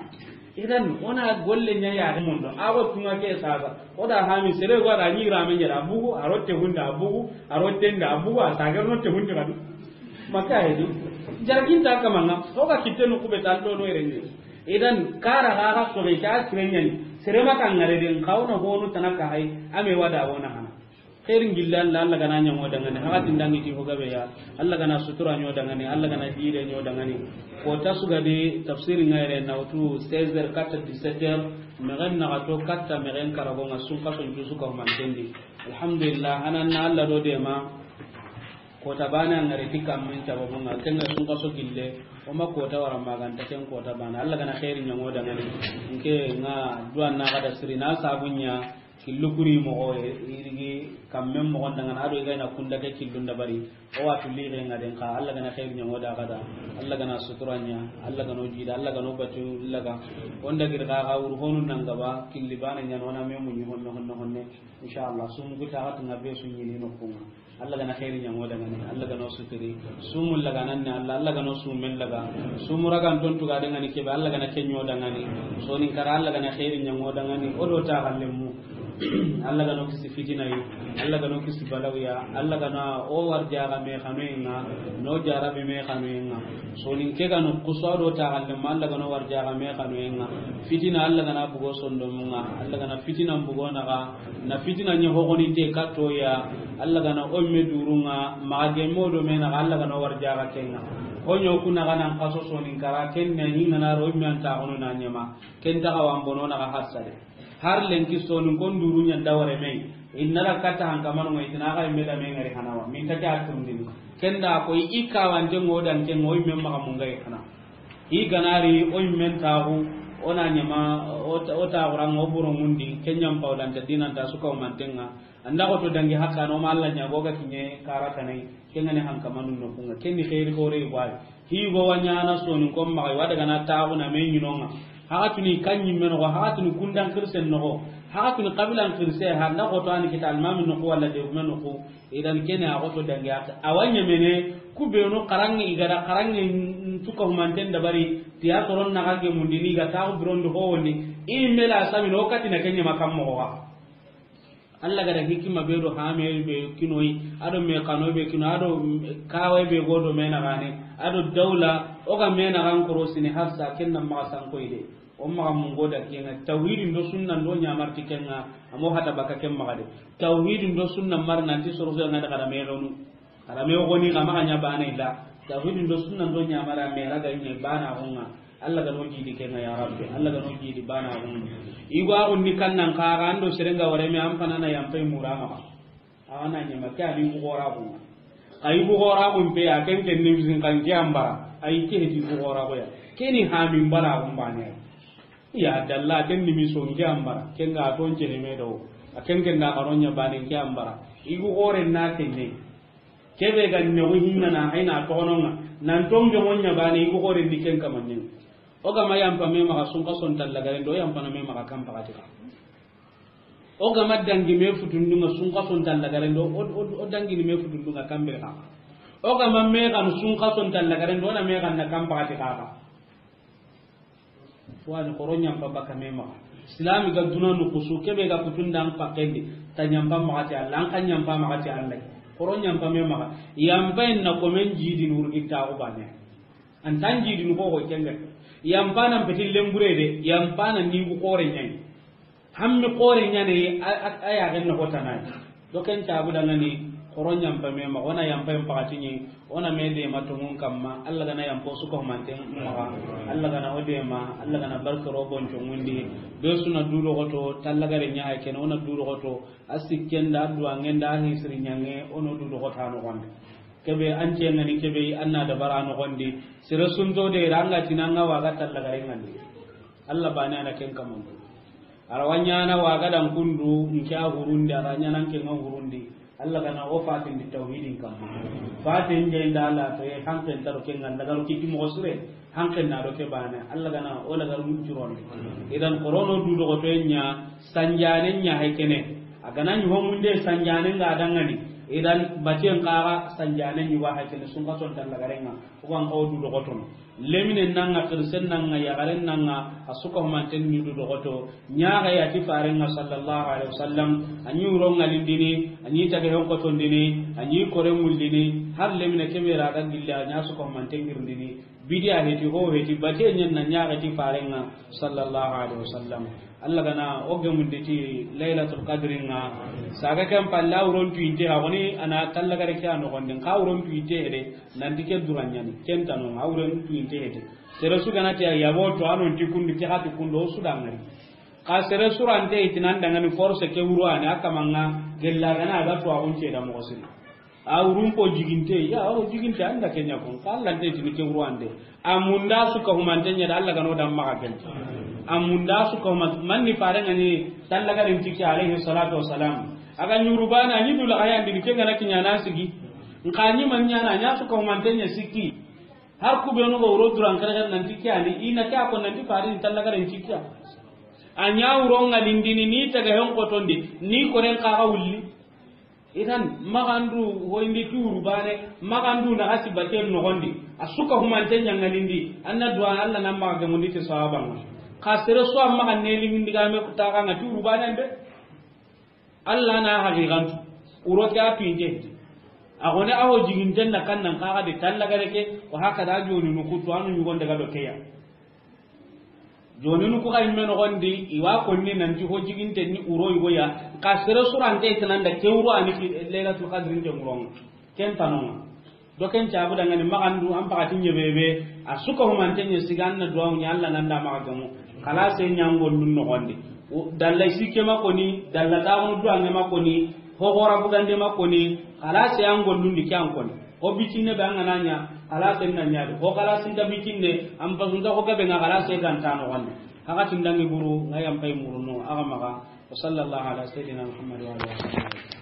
Idan o na golle ɲa ya mundo. Ago tunga ke sasa. O da hami sere go da ni rame ɲa da bugu, a rotte hunda bugu, a rotte nda bugu, a sagar no te hunde kadu. Maka hedi. Jargin ta kamanga. O ga kitte no kube tal do no erenge. Idan kara ga ga so be ta sire ɲani. Sere maka ngare den kauna honu tanaka hay. Ame wada wona hana. Xeerin gilla Allah, Allah gana ɲaŋo dangani, hakatin dangi ti ho gabe ya, Allah gana sutura ɲo dangani, Allah gana dire ɲo dangani. Ko ta suga de tafsiri ŋa yere na wutu seize heures katta dix-sept heures, mexen naxa to katta mexen karago ŋa sun kason jusu ka humantendi. Alhamdulillah, hanan na Allah do dema. Kota bana ngare ti kammen sababu nga, ken ga sunkaso gille, o ma kota wara maganta ken kota bana. Allah gana xeeri ɲaŋo dangani. Nke nga duwa na ga da siri na sabu ɲa, killu kuri moxo, irigi kammen moxon dangana, ado i ga na kunda ke killun dabari. O wa tulli ge nga den xa, Allah gana xeeri ɲaŋo da ga da, Allah gana sutura ɲa, Allah gano jida, Allah gano batu laga. Onda gir ga ga wuru honu nan gaba, killi bana ɲa no na me muɲi honno, honno, honne. Inshallah, sumu guta ga tunga be su ɲini no kunga. Allah gana xeeri ɲaŋo dangani, Allah gana o suturi. Sumu laganan ne Allah, Allah gana o sumen laga. Sumu ragan ton tuga dangani kebe, Allah gana ke ɲo dangani. Sonin kara Allah gana xeeri ɲaŋo dangani, o do ta gallen mu. Allah gana o kisi fitina yi, Allah gana o kisi balawiya, Allah gana o warja ga me xanoyenga, no jarabi me xanoyenga. Sonin ke gano kuso do ta gallen mu, Allah gana o warja ga me xanoyenga. Fitina Allah gana bugo sondomunga, Allah gana fitina bugo naga. Na fitina ɲa hogoninte kattoya, Allah gana o me durunga, maxa gemme o do me naxa, Allah gana o warjaxa kenga. Hoɲo ku naxa nan xaso sonin kara, ken ne hinga na ro me anta xono na ɲama, ken taxa wan bono naxa harsade. Har lenki sonin kon duru ɲa da wore me, inna ra katta hankamano ngai tina ga me da me ngari hanawa, min ta ke a turndini. Ken da ko i kawante ngo dan ken ngo me maxa mungai hana. I ganari o yimmen taxu, o na ɲama, o ta-, o taxuranga, o buro ŋundi, ke ɲampa o danta dinanta suka o mantenga. Anda xoto dangi hakkano ma Allah ɲago ga kiɲe kara kanai, ke ngani hankamanu no kunga. Ke ni xeeri xore wai. Hi go wa ɲana sonin kon maxa, wa daga na taxu na me ɲinonga. Haxatuni kan ɲimme noxo, haxatuni kundan xirsen noxo, haxatuni xabilan xirse, handa xoto ani kita almami noxo walla de gume noxo. Idan kene a xoto dangi a, a wa ɲamene, ku benu xaranŋe i ga da xaranŋe n-, n-, tuka humanten dabari, tiya soron naxa gemundini, i ga taxu birondi howondi, i mela samino katina ke ɲama kam moxo xa. Allah ga da hikima be do hame be kinoyi, ado me xano be kino, ado kawe be godo me naxane, ado dawla, o ga me naxan korosini harsa, ken na maxa sankoyi de. O maxa mungo da kenga, tawhidin do sunnan do ɲamarti kenga, amo hata baka ken maxa de. Tawhidin do sunnan mar nanti soroso nga da kada me lonu. Kada me goni kama kanya bana illa. Tawhidin do sunnan do ɲamara me raga ine bana honga. Allah ga no jidi kenga ya Rabbi. Allah ga no jidi bana honga. Igwa onni kannan ka ga ando serenga wore me amfana na yampai murama. Awa na ɲama ke ani ku xora ku. Ayi ku xora ku pe a ken ken ni misin kan ke ambara. Ayi ke heti ku xora ko ya. Ke ni hami mbara ku mbane. Ya dalla ken ni miso nge ambara. Ken ga ton jene me do. A ken ken da karonya bane ke ambara. Igu xore na tenne. Kebe ga ne wi hinna na ayna toxononga. Nan ton ge monya bane igu xore ni ken kamanne. O ga ma yampa me maxa sunka son talla garen do yampa na me maxa kan pakati ka. O ga ma dangi me futundunga sunka son talla garen do, o, o, o dangi ni me futundunga kambe ka. O ga ma me kan sunka son talla garen do, na me kan na kam pakati ka. Wani xoro ɲampa baka me maxa. Silami ga duna nu kusu, kebe ga kutundan pakendi, ta ɲampa maxa ti Allah, an kan ɲampa maxa ti Allah. Xoro ɲampa me maxa. Yampa en na komen jidi nurgi ta ko bane. An tan jidi nu ko ko kenga. Yampa nan peti lembure de, yampa nan ni ku xore ɲani. Hammi xore ɲane a, a, a yaxen noxo tanay. Do ken cabu dangani xoro ɲampa me maxa, o na yampa en pakati ɲi, o na me dema tongun kamma, Allah gana yampo suka humanten maxa, Allah gana o dema, Allah gana barke ro bonco ŋundi, be suna du doxoto, tallagare ɲa hay kene, o na du doxoto, a sikkenda, a duwangenda, a hisiri ɲange, o no du doxota noxonde. Kebe an cengani kebe, an na dabara noxondi, sere sunto de, ranga tinanga waga tallagare ŋandi. Allah bane ana ken kamandu. Ara wa ɲana wa ga dan kundu, nke a hurundi, ara ɲana nke nga hurundi. Allah gana o fatindi tawhidin kamma. Fatin je nda Allah to e hanken taro ke nga lagaru kiti mo sure, hanken na do ke bane. Allah gana o lagaru mun curondi. Idan xorono du doxoto ɲa, sanjane ɲa hay kene. A gana ɲi ho munde sanjane nga dangani. Idan batien xara sanjane ɲi wa hay kene sunka son tallagarenga. O ban ko du doxotono. Lemine nanga, xirisen nanga, yaxaren nanga, a suka humanten ni du doxoto. Ɲaxa ya ti farenga sallallahu alaihi wasallam, a ɲi wuro ŋalindini, a ɲi tage hon kotondini, a ɲi kore mullini, har lemine kebe ra ga gilla, a ɲa suka humanten girindini. Bidiya heti, ho heti, bate ɲen na ɲaxa ti farenga sallallahu alaihi wasallam. Allah gana o gemundi ti Laylatul Qadri nga. Saga ken palle a wuron tuyinte, a goni ana tallagare ke a noxondi. Nka wuron tuyinte hede, nanti ke dura ɲani. Ken tano, a wuron tuyinte hede. Sere su gana ti a yabo to, a non ti kundu, ke hati kundu, o su dangari. Ka sere su rante itinan dangani force ke wuro ani, a kamanga gella gana a ga to a gunce da moxo siri. A wurun ko jiginte, ya, o jiginte, an da ke ɲa ko. Ka Alla nte tini ke wuru ande. A munda su ka humante ɲa da Alla ga no da maxa gel. A munda su ka huma-, manni fare ŋa ni tallagarin tiki alayhi salatu wassalam. A ga ɲuru bana ni dula ga yandi ke ŋa na kiɲa na sigi. Nka ni man ɲa na ɲa su ka humante ɲa sikki. Har ku be no ga wuro duran kare nan tiki ani, i na ke a ko nan ti fare ni tallagarin tiki ya. A ɲa wuro ŋa lindini ni taga hen kotondi, ni koren ka ga wulli. Idan, maxandu hoyindi ti wuru bane, maxandu na xasi baten noxondi, a su ka humante ɲaŋalindi, an na duwa Alla na maxa gemundi ti sawaba ŋa. Xa sere su a maxa neli ŋindi ga me ku taxa ŋa ti wuru banen de. Alla na haqiqantu, wuro ke a pinte. A xone a ho jiginten na kan nan kaxa de tallagare ke, wa haka da joni nu kutu anu ɲugon daga do keya. Joninu ku xa yimme noxondi, i wa konni nanti ho jiginten ni wuro yigo ya, ka sere surante i tananda ke wuro ani ki Laylatul Qadri nte wuron ŋa. Ken tanonga. Do ken cabu dangani maxandu, an paxati ɲebebe, a su ka humante ɲa siga an na duwawu ɲa Alla nan da maxa gemu. Xalase ɲa an gollun noxondi. O, dalla sikke ma koni, dalla taxunu duwange ma koni, ho xora bugande ma koni, xalase an gollun di ke an koni. Ho bicinne be an ga na ɲa, xalasen na ɲa de. Ho xalasin ta bicinne, an pasunta ho gabe ŋa xalase ganta noxondi. Haxa tindangi buru, ŋa yan pay muru no, axa maxa. Wa sallallahu ala sayyidina Muhammad wa ala alihi wa sahbihi.